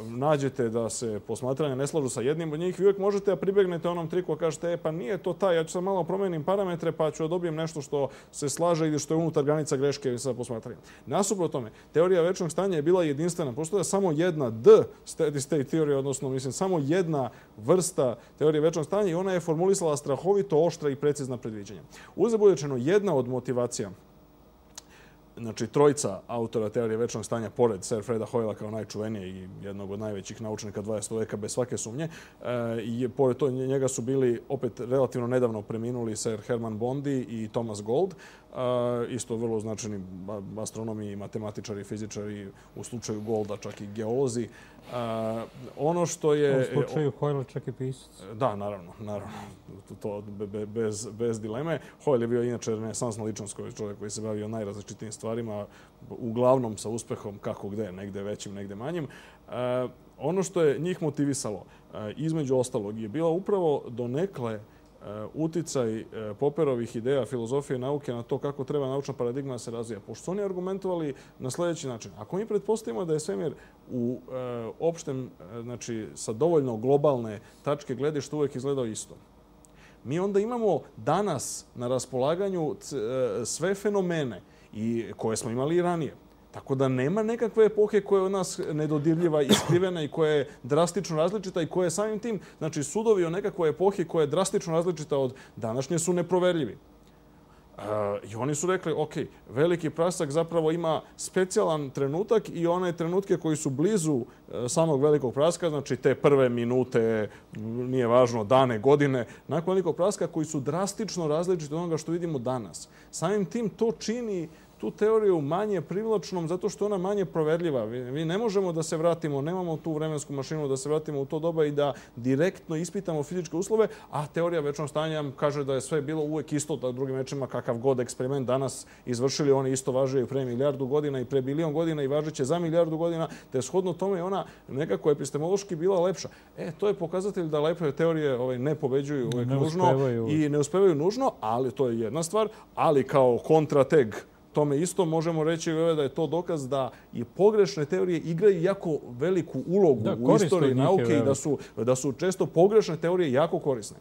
nađete da se posmatranja ne slažu sa jednim od njih, vi uvijek možete da pribegnete onom triku a kažete e, pa nije to taj, ja ću sad malo promenim parametre pa ću da dobijem nešto što se slaže ili što je unutar granica greške sa posmatranjem. Nasuprot tome, teorija večnog stanja je bila jedinstvena. Postoje samo jedna D steady state teorija, odnosno mislim samo jedna vrsta teorije večnog stanja i ona je formulisala strahovito oštra i precizna predviđanja. Uzre bude rečeno, jedna od motivacija, znači trojica autora teorije večnog stanja, pored Sir Freda Hoyla kao najčuvenije i jednog od najvećih naučnika dvadesetog veka bez svake sumnje, i pored to njega su bili opet relativno nedavno preminuli Sir Herman Bondi i Thomas Gold, isto vrlo značajni astronomi i matematičari i fizičari, u slučaju Golda čak i geolozi. Ono što je... U slučaju Hoyle čak i pisac. Da, naravno, naravno. To bez, bez dileme. Hoyle je bio inače renesansna ličnost, koji čovjek koji se bavio najrazličitijim stvarima, uglavnom sa uspehom kako gde, negde većim, negde manjim. Ono što je njih motivisalo, između ostalog, je bila upravo donekle uticaj Popperovih ideja filozofije nauke na to kako treba naučna paradigma da se razvija. Pošto su oni argumentovali na sljedeći način. Ako mi pretpostavimo da je svemir u opštem, znači sa dovoljno globalne tačke gledišta uvijek izgledao isto, mi onda imamo danas na raspolaganju sve fenomene i koje smo imali i ranije. Tako da nema nekakve epohe koja je od nas nedodirljiva, iskrivena i koja je drastično različita i koja je samim tim, znači sudovi o nekakvoj epohi koja je drastično različita od današnje su neproverljivi. I oni su rekli, ok, veliki prasak zapravo ima specijalan trenutak i one trenutke koji su blizu samog velikog praska, znači te prve minute, nije važno, dane, godine, nakon velikog praska koji su drastično različiti od onoga što vidimo danas. Samim tim to čini tu teoriju manje privlačnom zato što ona manje proverljiva. Mi ne možemo da se vratimo, nemamo tu vremensku mašinu da se vratimo u to doba i da direktno ispitamo fizičke uslove, a teorija večnog stanja kaže da je sve bilo uvek isto, da drugim rečima kakav god eksperiment danas izvršili, oni isto važe i pre milijardu godina i pre bilion godina i važeće za milijardu godina, te shodno tome je ona nekako epistemološki bila lepša. E, to je pokazatelj da lepe teorije ovaj, ne pobeđuju uvek ne nužno uspevaju. i ne uspevaju nužno, ali to je jedna stvar, ali kao kontrateg tome isto možemo reći da je to dokaz da i pogrešne teorije igraju jako veliku ulogu da, u istoriji nauke i da su, da su često pogrešne teorije jako korisne.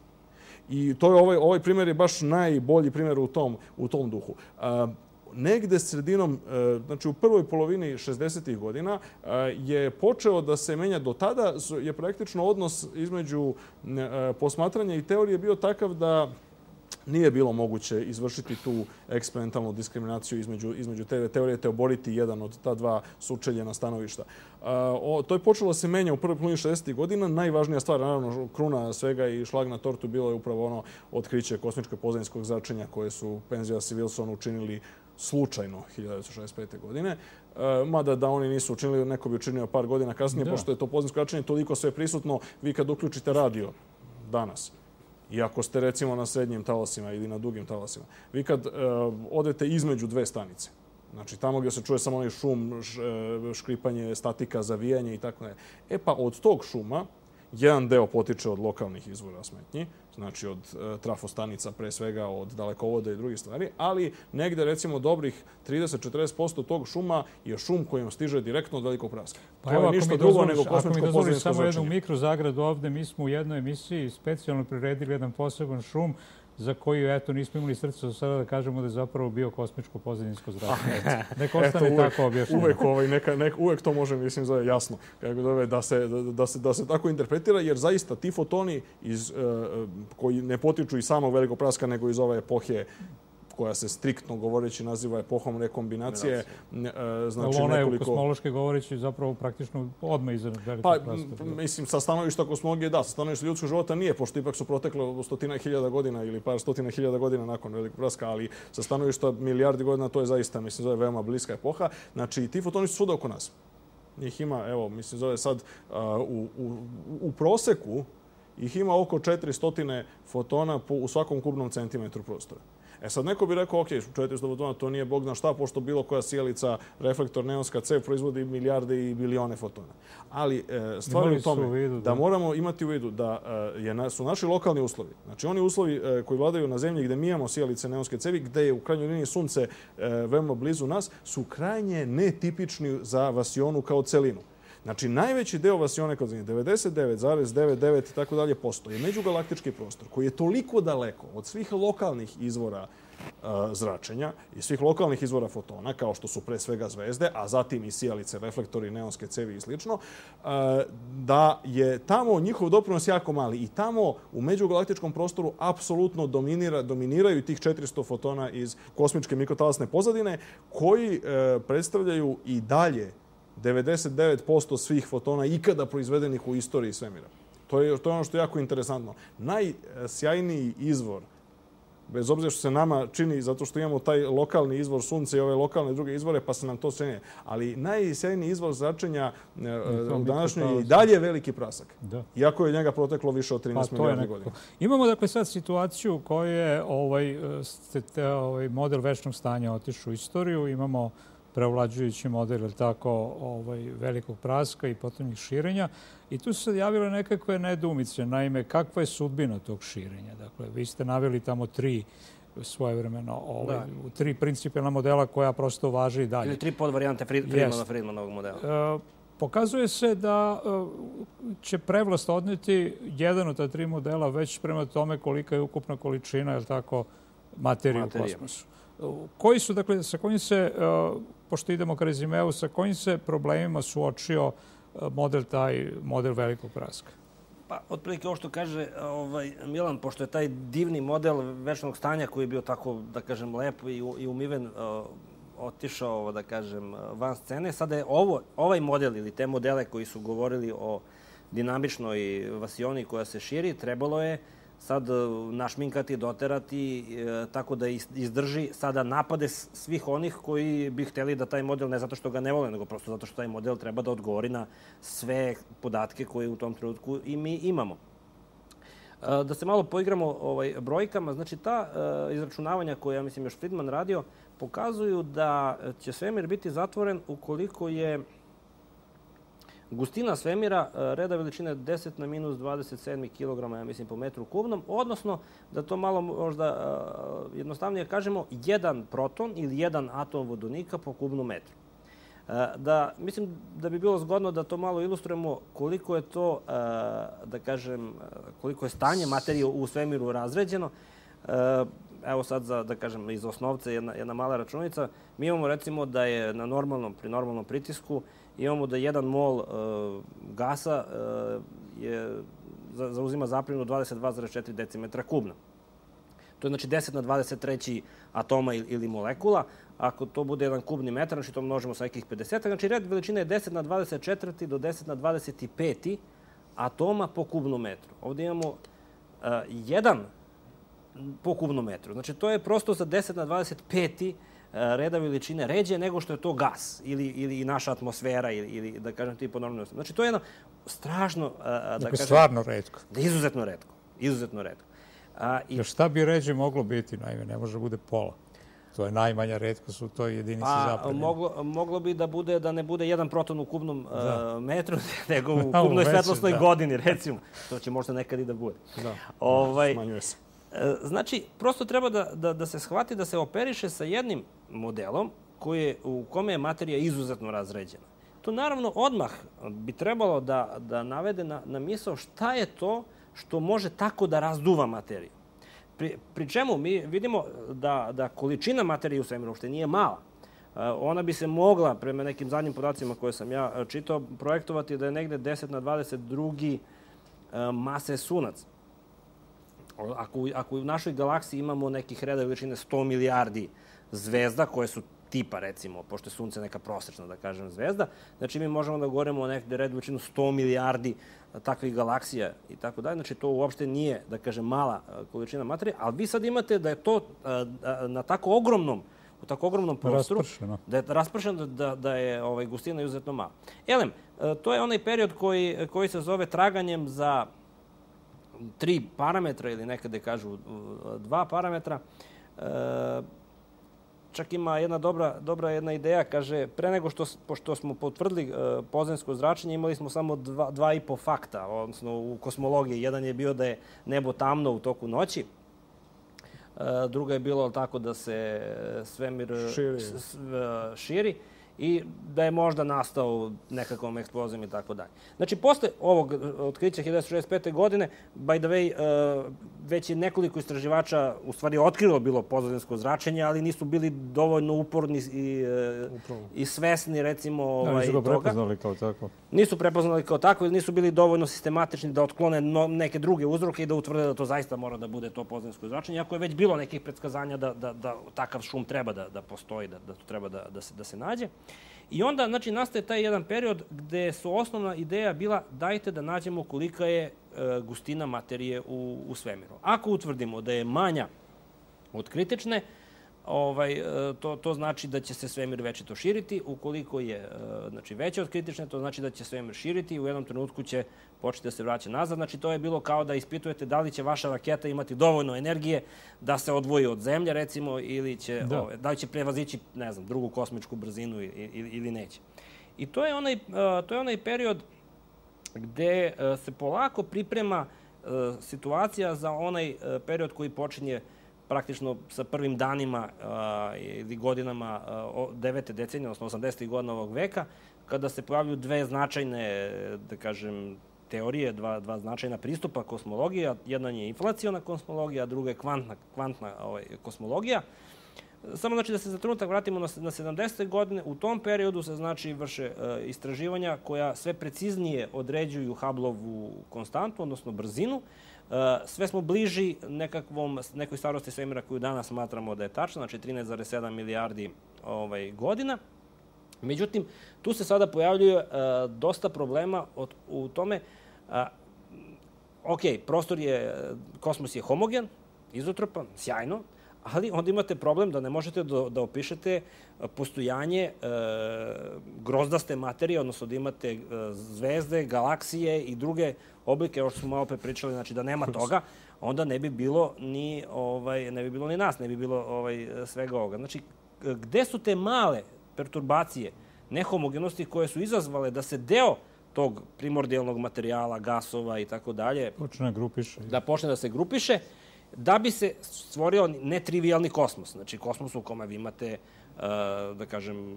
I to je ovaj, ovaj primjer je baš najbolji primjer u tom, u tom duhu. A, negde sredinom, znači u prvoj polovini šezdesetih godina je počeo da se menja. Do tada je praktično odnos između posmatranja i teorije bio takav da nije bilo moguće izvršiti tu eksperimentalnu diskriminaciju između, između te teorije, te oboriti jedan od ta dva sučeljena stanovišta. Uh, o, to je počelo da se menja u prvoj polovini šezdesetih godina. Najvažnija stvar, naravno, kruna svega i šlag na tortu bilo je upravo ono otkriće kosmičkog pozadinskog zračenja koje su Penzias i Wilson učinili slučajno hiljadu devetsto šezdeset pete. godine. E, mada da oni nisu učinili, neko bi učinio par godina kasnije, da. Pošto je to pozadinsko zračenje toliko sve prisutno, vi kad uključite radio danas, i ako ste recimo na srednjim talasima ili na dugim talasima, vi kad e, odete između dve stanice, znači tamo gdje se čuje samo onaj šum, š, škripanje, statika, zavijanje i tako dalje. E pa od tog šuma jedan deo potiče od lokalnih izvora smetnji, znači od e, trafostanica pre svega, od dalekovoda i drugih stvari, ali negde recimo dobrih trideset do četrdeset posto tog šuma je šum kojim stiže direktno od velikog praska. Pa to evo, je ništa drugo dozvoliš, nego kosmičko pozadinsko zračenje. Ako mi dozvoliš samo jednu mikrozagradu ovde, mi smo u jednoj emisiji specijalno priredili jedan poseban šum za koju, eto, nismo imali srce do sada da kažemo da je zapravo bio kosmičko pozadinsko zračenje. Neka ostane eto, uvek, tako objašnjeno. Uvek, ovaj, neka, neka, uvek to može, mislim, zove jasno kako dove, da, se, da, da, se, da se tako interpretira, jer zaista ti fotoni iz, uh, koji ne potiču iz samog velikog praska, nego iz ove epohe koja se striktno govoreći naziva epohom rekombinacije. Znači, ona je nekoliko... kosmološki govoreći zapravo praktično odmah iza velikog pa, praska. Mislim, sa stanovišta kosmologije da, sa stanovišta ljudskog života nije, pošto ipak su proteklo stotina hiljada godina ili par stotina hiljada godina nakon velikog praska, ali sa stanovišta milijardi godina to je zaista, mislim, zove veoma bliska epoha. Znači, ti fotoni su svuda oko nas. Njih ima, evo, mislim, zove sad uh, u, u, u proseku ih ima oko četiristo fotona po, u svakom kubnom centimetru prostora. E sad neko bi rekao, ok, četiristo fotona, to nije bog zna šta, pošto bilo koja sijalica, reflektor, neonska cev proizvodi milijarde i bilione fotona. Ali e, stvar je u tome vidu, da. da moramo imati u vidu da e, je, su naši lokalni uslovi, znači oni uslovi e, koji vladaju na zemlji gde mi imamo sijalice neonske cevi, gde je u krajnjoj liniji sunce e, veoma blizu nas, su krajnje netipični za vasionu kao celinu. Znači, najveći deo vasione kao zemlje, devedeset devet zarez devedeset devet i tako dalje posto, je međugalaktički prostor koji je toliko daleko od svih lokalnih izvora uh, zračenja i svih lokalnih izvora fotona, kao što su pre svega zvezde, a zatim i sijalice, reflektori, neonske cevi i slično, uh, da je tamo njihov doprinos jako mali i tamo u međugalaktičkom prostoru apsolutno dominira, dominiraju tih četiristo fotona iz kosmičke mikrotalasne pozadine koji uh, predstavljaju i dalje devedeset devet posto svih fotona ikada proizvedenih u istoriji svemira. To je, to je ono što je jako interesantno. Najsjajniji izvor, bez obzira što se nama čini, zato što imamo taj lokalni izvor sunca i ove lokalne druge izvore, pa se nam to čini. Ali najsjajniji izvor zračenja u današnjoj je i dalje veliki prasak. Da. Iako je njega proteklo više od trinaest pa, milijardi godina. Imamo dakle sad situaciju koju je ovaj, ovaj model večnog stanja otišao u istoriju. Imamo preovlađujući model tako, ovaj, velikog praska i potonjih širenja. I tu su se javile nekakve nedoumice. Naime, kakva je sudbina tog širenja? Dakle, vi ste naveli tamo tri svojevremeno, ovaj, tri principijalna modela koja prosto važe i dalje. Ili tri podvarijante Friedmana, Friedmanovog modela. E, pokazuje se da e, će prevlast odneti jedan od ta tri modela već prema tome kolika je ukupna količina, je li tako, materije u kosmosu. Koji su, dakle, sa kojim se, pošto idemo ka rezimeu, sa kojim se problemima suočio model taj, model velikog praska? Pa, otprilike ovo što kaže ovaj, Milan, pošto je taj divni model večnog stanja koji je bio tako, da kažem, lep i, i umiven, uh, otišao, da kažem, van scene. Sada je ovo, ovaj model ili te modele koji su govorili o dinamičnoj vasioni koja se širi, trebalo je sad našminkati, doterati, e, tako da izdrži sada napade svih onih koji bi hteli da taj model, ne zato što ga ne vole, nego prosto zato što taj model treba da odgovori na sve podatke koje u tom trenutku i mi imamo. E, da se malo poigramo ovaj, brojkama, znači ta e, izračunavanja koje, ja mislim, još Friedman radio, pokazuju da će svemir biti zatvoren ukoliko je gustina svemira reda veličine deset na minus dvadeset sedam kilograma, ja mislim, po metru kubnom, odnosno, da to malo možda jednostavnije kažemo, jedan proton ili jedan atom vodonika po kubnom metru. Da, mislim da bi bilo zgodno da to malo ilustrujemo koliko je to, da kažem, koliko je stanje materije u svemiru razređeno. Evo sad, za, da kažem, iz osnovce jedna, jedna mala računica. Mi imamo, recimo, da je na normalnom, pri normalnom pritisku imamo da jedan mol e, gasa e, je, za, zauzima zapreminu dvadeset dva zarez četiri decimetra kubna. To je znači deset na dvadeset tri atoma ili molekula. Ako to bude jedan kubni metar, znači to množimo sa nekih pedeset. Znači red veličine je deset na dvadeset četiri do deset na dvadeset pet atoma po kubnom metru. Ovdje imamo uh, jedan po kubnom metru. Znači to je prosto za deset na dvadeset pet reda veličine ređe nego što je to gas ili, ili naša atmosfera ili, ili da kažem ti po normalnom. Znači to je jedno strašno, da dakle, kažem... stvarno retko. Izuzetno retko. Izuzetno retko. A, i... Jer šta bi ređe moglo biti? Naime, ne može bude pola. To je najmanja retkost u toj jedinici pa, zapremljene. Moglo, moglo bi da bude da ne bude jedan proton u kubnom uh, metru, nego u kubnoj svetlosnoj da. godini, recimo. To će možda nekad i da bude. Da, ovaj, smanjuje se. Znači, prosto treba da, da, da se shvati da se operiše sa jednim modelom koji je, u kome je materija izuzetno razređena. To naravno odmah bi trebalo da, da navede na, na misao šta je to što može tako da razduva materiju. Pri, pri čemu mi vidimo da, da količina materije u svemiru uopšte nije mala. Ona bi se mogla, prema nekim zadnjim podacima koje sam ja čitao, projektovati da je negde deset na dvadeset drugi mase sunac. Ako, ako u našoj galaksiji imamo nekih reda veličine sto milijardi zvezda, koje su tipa, recimo, pošto je Sunce neka prosečna, da kažem, zvezda, znači mi možemo da govorimo o nekde red veličinu sto milijardi takvih galaksija i tako dalje. Znači to uopšte nije, da kažem, mala količina materije, ali vi sad imate da je to na tako ogromnom, u tako ogromnom prostoru, raspršeno. da je raspršeno, da, da je ovaj, gustina izuzetno mala. Elem, to je onaj period koji, koji se zove traganjem za tri parametra ili nekada kažu dva parametra. E, čak ima jedna dobra, dobra jedna ideja, kaže, pre nego što, pošto smo potvrdili e, pozemsko zračenje, imali smo samo dva, dva i po fakta, odnosno u kosmologiji. Jedan je bio da je nebo tamno u toku noći, e, druga je bilo tako da se svemir širi. S, s, širi i da je možda nastao nekakvom eksplozijom i tako dalje. Znači, posle ovog otkrića hiljadu devetsto šezdeset pete. godine, by the way, već je nekoliko istraživača u stvari otkrilo bilo pozadinsko zračenje, ali nisu bili dovoljno uporni i, i svesni, recimo, ovaj, nisu ga toga. prepoznali kao tako. Nisu prepoznali kao tako ili nisu bili dovoljno sistematični da otklone no, neke druge uzroke i da utvrde da to zaista mora da bude to pozadinsko zračenje, ako je već bilo nekih predskazanja da, da, da takav šum treba da, da postoji, da, da to treba da, da, se, da se nađe. I onda, znači, nastaje taj jedan period gde su osnovna ideja bila dajte da nađemo kolika je e, gustina materije u, u svemiru. Ako utvrdimo da je manja od kritične, ovaj, to, to znači da će se svemir večito širiti. Ukoliko je znači, veća od kritične, to znači da će svemir širiti i u jednom trenutku će početi da se vraća nazad. Znači, to je bilo kao da ispitujete da li će vaša raketa imati dovoljno energije da se odvoji od Zemlje, recimo, ili će, da. Ovaj, da li će prevazići, ne znam, drugu kosmičku brzinu ili, ili neće. I to je onaj, to je onaj period gde se polako priprema situacija za onaj period koji počinje praktično sa prvim danima ili godinama devete decenije, odnosno osamdesetih godina ovog veka, kada se pojavljuju dve značajne, da kažem, teorije, dva, dva značajna pristupa kosmologija. Jedna je inflaciona kosmologija, a druga je kvantna, kvantna ovaj, kosmologija. Samo znači da se za trenutak vratimo na, na sedamdesete godine. U tom periodu se znači vrše uh, istraživanja koja sve preciznije određuju Hubbleovu konstantu, odnosno brzinu. Uh, sve smo bliži nekakvom, nekoj starosti svemira koju danas smatramo da je tačna, znači trinaest zarez sedam milijardi ovaj, godina. Međutim, tu se sada pojavljuje uh, dosta problema od, u tome. Uh, ok, prostor je, kosmos je homogen, izotropan, sjajno, ali onda imate problem da ne možete da, da opišete postojanje e, grozdaste materije, odnosno da imate e, zvezde, galaksije i druge oblike, ovo što smo malo pre pričali, znači da nema toga, onda ne bi bilo ni, ovaj, ne bi bilo ni nas, ne bi bilo ovaj, svega ovoga. Znači, gde su te male perturbacije, nehomogenosti koje su izazvale da se deo tog primordijalnog materijala, gasova i tako dalje, počne grupiše. Da počne da se grupiše, da bi se stvorio netrivijalni kosmos. Znači, kosmos u kome vi imate, da kažem,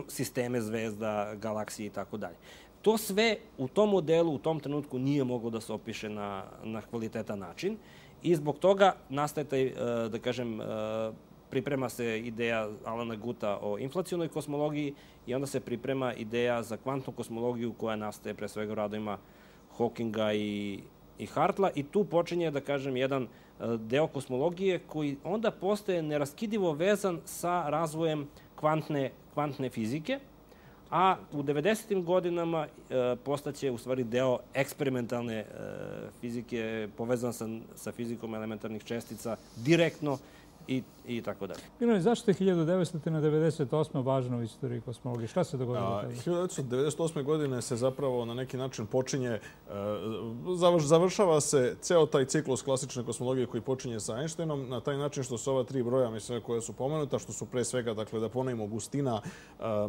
sisteme zvezda, galaksije i tako dalje. To sve u tom modelu, u tom trenutku nije moglo da se opiše na, na kvalitetan način i zbog toga nastaje taj, da kažem, priprema se ideja Alana Guta o inflacionoj kosmologiji i onda se priprema ideja za kvantnu kosmologiju koja nastaje pre svega u radovima Hawkinga i i Hartla i tu počinje, da kažem, jedan deo kosmologije koji onda postaje neraskidivo vezan sa razvojem kvantne, kvantne fizike, a u devedesetim godinama e, postaće u stvari deo eksperimentalne e, fizike povezan sa, sa fizikom elementarnih čestica direktno i, i tako dalje. Milane, zašto je hiljadu devetsto devedeset osma važna u istoriji kosmologije? Šta se dogodilo tada? hiljadu devetsto devedeset osme. godine se zapravo na neki način počinje, završava se ceo taj ciklus klasične kosmologije koji počinje sa Einsteinom na taj način što su ova tri broja, mislim, koje su pomenuta, što su pre svega, dakle, da ponovimo, gustina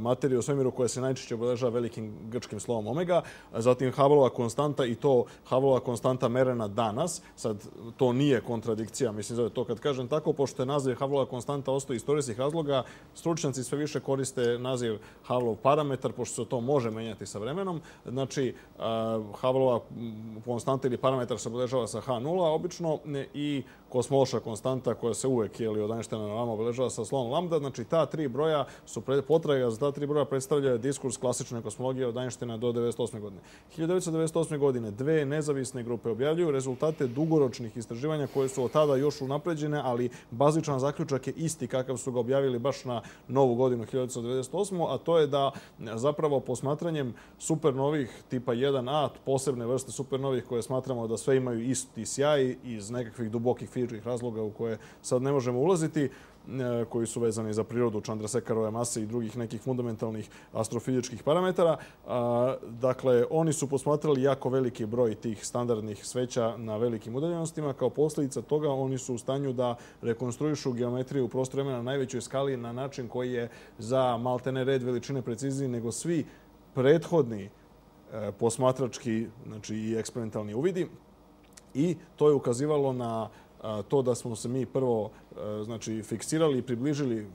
materije u svemiru koja se najčešće obeležava velikim grčkim slovom omega, zatim Hubbleova konstanta i to Hubbleova konstanta merena danas. Sad, to nije kontradikcija, mislim, zove to kad kažem tako, pošto je naziv Hubbleova konstanta ostao istorijskih razloga, stručnjaci sve više koriste naziv Hubbleov parametar, pošto se to može menjati sa vremenom. Znači, Hubbleova konstanta ili parametar se obeležava sa H nula obično i kosmološka konstanta koja se uvek ili od Einsteina na vama obeležava sa slovom lambda. Znači, ta tri broja su potraga za ta tri broja predstavljaju diskurs klasične kosmologije od Einsteina do devedeset osme. godine. hiljadu devetsto devedeset osme. godine dve nezavisne grupe objavljuju rezultate dugoročnih istraživanja koje su od tada još unapređene, ali bazičan zaključak je isti kakav su ga objavili baš na novu godinu hiljadu devetsto devedeset osme. a to je da zapravo posmatranjem supernovih tipa jedan a, posebne vrste supernovih koje smatramo da sve imaju isti sjaj iz nekakvih dubokih fizičkih razloga u koje sad ne možemo ulaziti, koji su vezani za prirodu Chandrasekharove mase i drugih nekih fundamentalnih astrofizičkih parametara. Dakle, oni su posmatrali jako veliki broj tih standardnih sveća na velikim udaljenostima. Kao posljedica toga oni su u stanju da rekonstruišu geometriju u prostoru vremena na najvećoj skali na način koji je za maltene red veličine precizniji nego svi prethodni posmatrački, znači i eksperimentalni uvidi. I to je ukazivalo na to da smo se mi prvo znači, fiksirali i približili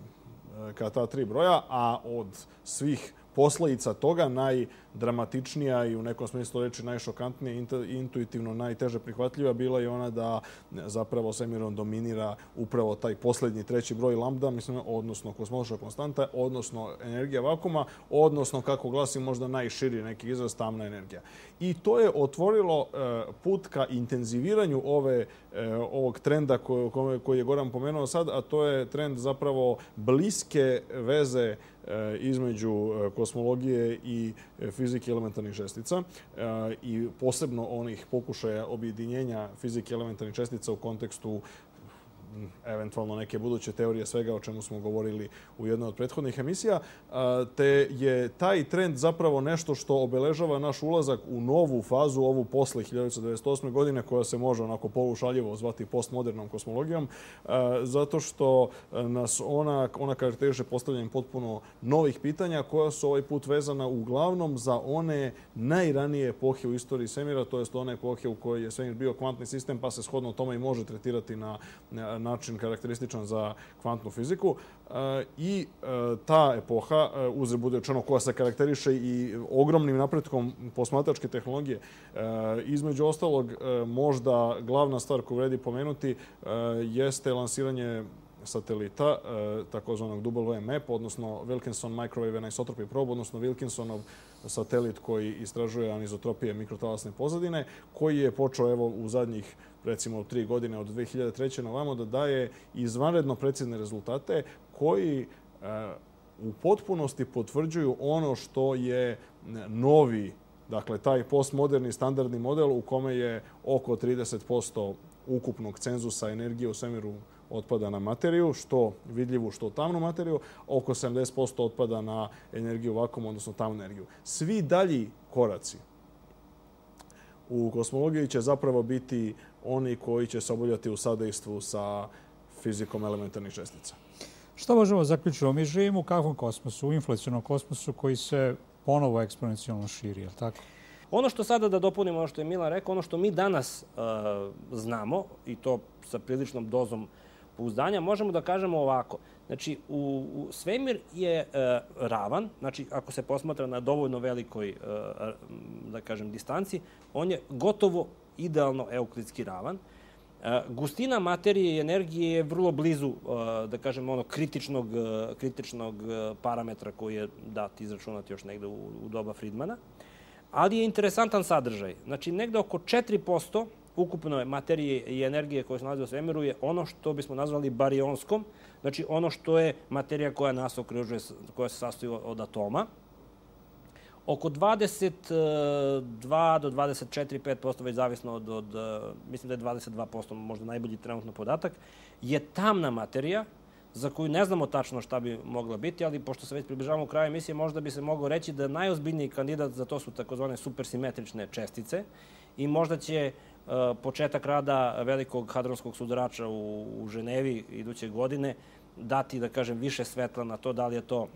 ka ta tri broja, a od svih posledica toga najdramatičnija i u nekom smislu reči najšokantnija i intuitivno najteže prihvatljiva bila je ona da zapravo svemirom dominira upravo taj posljednji treći broj lambda, mislim, odnosno kosmološka konstanta, odnosno energija vakuma, odnosno, kako glasi možda najširi neki izraz, tamna energija. I to je otvorilo put ka intenziviranju ove, ovog trenda koji je Goran pomenuo sad, a to je trend zapravo bliske veze između kosmologije i fizike elementarnih čestica i posebno onih pokušaja objedinjenja fizike elementarnih čestica u kontekstu eventualno neke buduće teorije svega o čemu smo govorili u jednoj od prethodnih emisija, te je taj trend zapravo nešto što obeležava naš ulazak u novu fazu, ovu posle hiljadu devetsto devedeset osme. godine, koja se može onako polušaljivo zvati postmodernom kosmologijom, zato što nas ona, ona karakteriše postavljanjem potpuno novih pitanja koja su ovaj put vezana uglavnom za one najranije epohe u istoriji svemira, to jest one epohe u kojoj je svemir bio kvantni sistem, pa se shodno tome i može tretirati na način karakterističan za kvantnu fiziku. I ta epoha, uzre bude rečeno, koja se karakteriše i ogromnim napretkom posmatračke tehnologije. Između ostalog, možda glavna stvar koju vredi pomenuti jeste lansiranje satelita, takozvanog W M A P, odnosno Wilkinson Microwave Anisotropy Probe, odnosno Wilkinsonov satelit koji istražuje anizotropije mikrotalasne pozadine, koji je počeo evo u zadnjih recimo tri godine od dve hiljade treće na ovamo da daje izvanredno precizne rezultate koji u potpunosti potvrđuju ono što je novi, dakle taj postmoderni standardni model u kome je oko trideset posto ukupnog cenzusa energije u svemiru otpada na materiju, što vidljivu, što tamnu materiju, oko sedamdeset posto otpada na energiju vakuma, odnosno tamnu energiju. Svi dalji koraci u kosmologiji će zapravo biti oni koji će se obavljati u sadejstvu sa fizikom elementarnih čestica. Što možemo zaključiti? Mi živimo u kakvom kosmosu? U inflacionom kosmosu koji se ponovo eksponencijalno širi, je li tako? Ono što sada da dopunimo, ono što je Milan rekao, ono što mi danas uh, znamo, i to sa priličnom dozom pouzdanja, možemo da kažemo ovako. Znači, u, u svemir je uh, ravan, znači ako se posmatra na dovoljno velikoj, uh, da kažem, distanci, on je gotovo idealno euklidski ravan. Uh, gustina materije i energije je vrlo blizu, uh, da kažem, ono kritičnog, uh, kritičnog uh, parametra koji je dat izračunati još negde u, u doba Friedmana. Ali je interesantan sadržaj. Znači, negde oko četiri posto ukupne materije i energije koje se nalaze u svemiru je ono što bismo nazvali barionskom, znači ono što je materija koja nas okružuje, koja se sastoji od atoma. Oko dvadeset dva do dvadeset četiri, pet posto, već zavisno od, od, mislim da je dvadeset dva posto možda najbolji trenutno podatak, je tamna materija za koju ne znamo tačno šta bi mogla biti, ali pošto se već približavamo kraju emisije, možda bi se moglo reći da najozbiljniji kandidat za to su takozvane supersimetrične čestice i možda će uh, početak rada velikog hadronskog sudarača u, u Ženevi iduće godine dati, da kažem, više svetla na to da li je to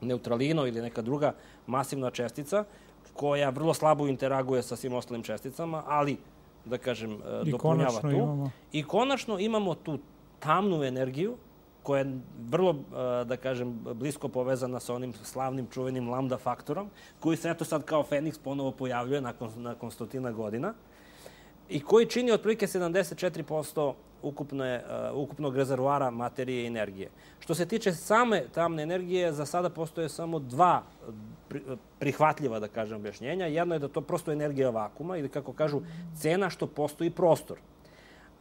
neutralino ili neka druga masivna čestica koja vrlo slabo interaguje sa svim ostalim česticama, ali, da kažem, I dopunjava tu. Imamo. I konačno imamo tu tamnu energiju koja je vrlo, da kažem, blisko povezana sa onim slavnim čuvenim lambda faktorom, koji se eto sad kao Feniks ponovo pojavljuje nakon, nakon stotina godina i koji čini otprilike sedamdeset četiri posto ukupne, uh, ukupnog rezervoara materije i energije. Što se tiče same tamne energije, za sada postoje samo dva pri, prihvatljiva, da kažem, objašnjenja. Jedno je da to prosto energija vakuma ili, kako kažu, cena što postoji prostor.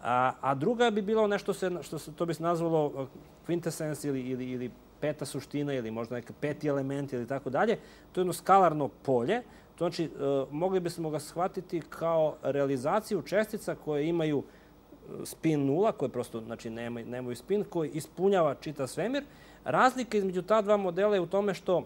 A, a druga bi bilo nešto se, što se, to bi se nazvalo quintessence ili, ili, ili peta suština ili možda neka peti element ili tako dalje. To je jedno skalarno polje. To znači, e, mogli bismo ga shvatiti kao realizaciju čestica koje imaju spin nula, koje prosto znači, nemaju, nemaju spin, koji ispunjava čitav svemir. Razlika između ta dva modela je u tome što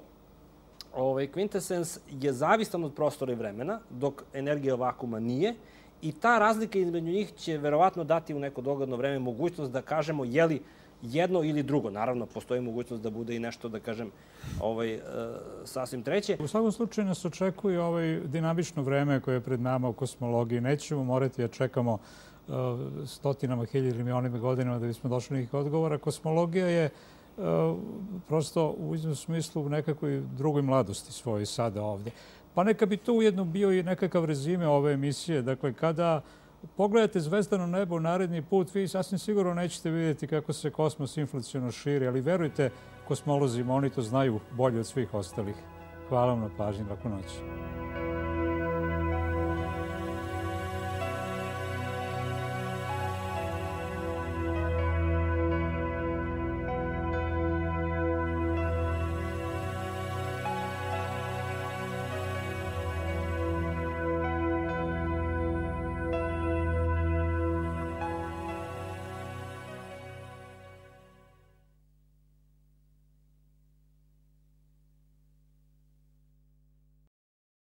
ovaj, quintessence je zavistan od prostora i vremena, dok energija vakuma nije. I ta razlika između njih će verovatno dati u neko dogledno vreme mogućnost da kažemo je li jedno ili drugo. Naravno, postoji mogućnost da bude i nešto, da kažem, ovaj, e, sasvim treće. U svakom slučaju nas očekuje ovaj dinamično vreme koje je pred nama u kosmologiji. Nećemo morati da čekamo uh, stotinama, hiljadima, milionima godinama da bismo došli nekih odgovora. Kosmologija je uh, prosto u iznom smislu u nekakvoj drugoj mladosti svojoj sada ovdje. Pa neka bi to ujedno bio i nekakav rezime ove emisije. Dakle, kada pogledate zvezdano nebo naredni put, vi sasvim sigurno nećete vidjeti kako se kosmos inflaciono širi, ali verujte kosmolozima, oni to znaju bolje od svih ostalih. Hvala vam na pažnji, laku noć.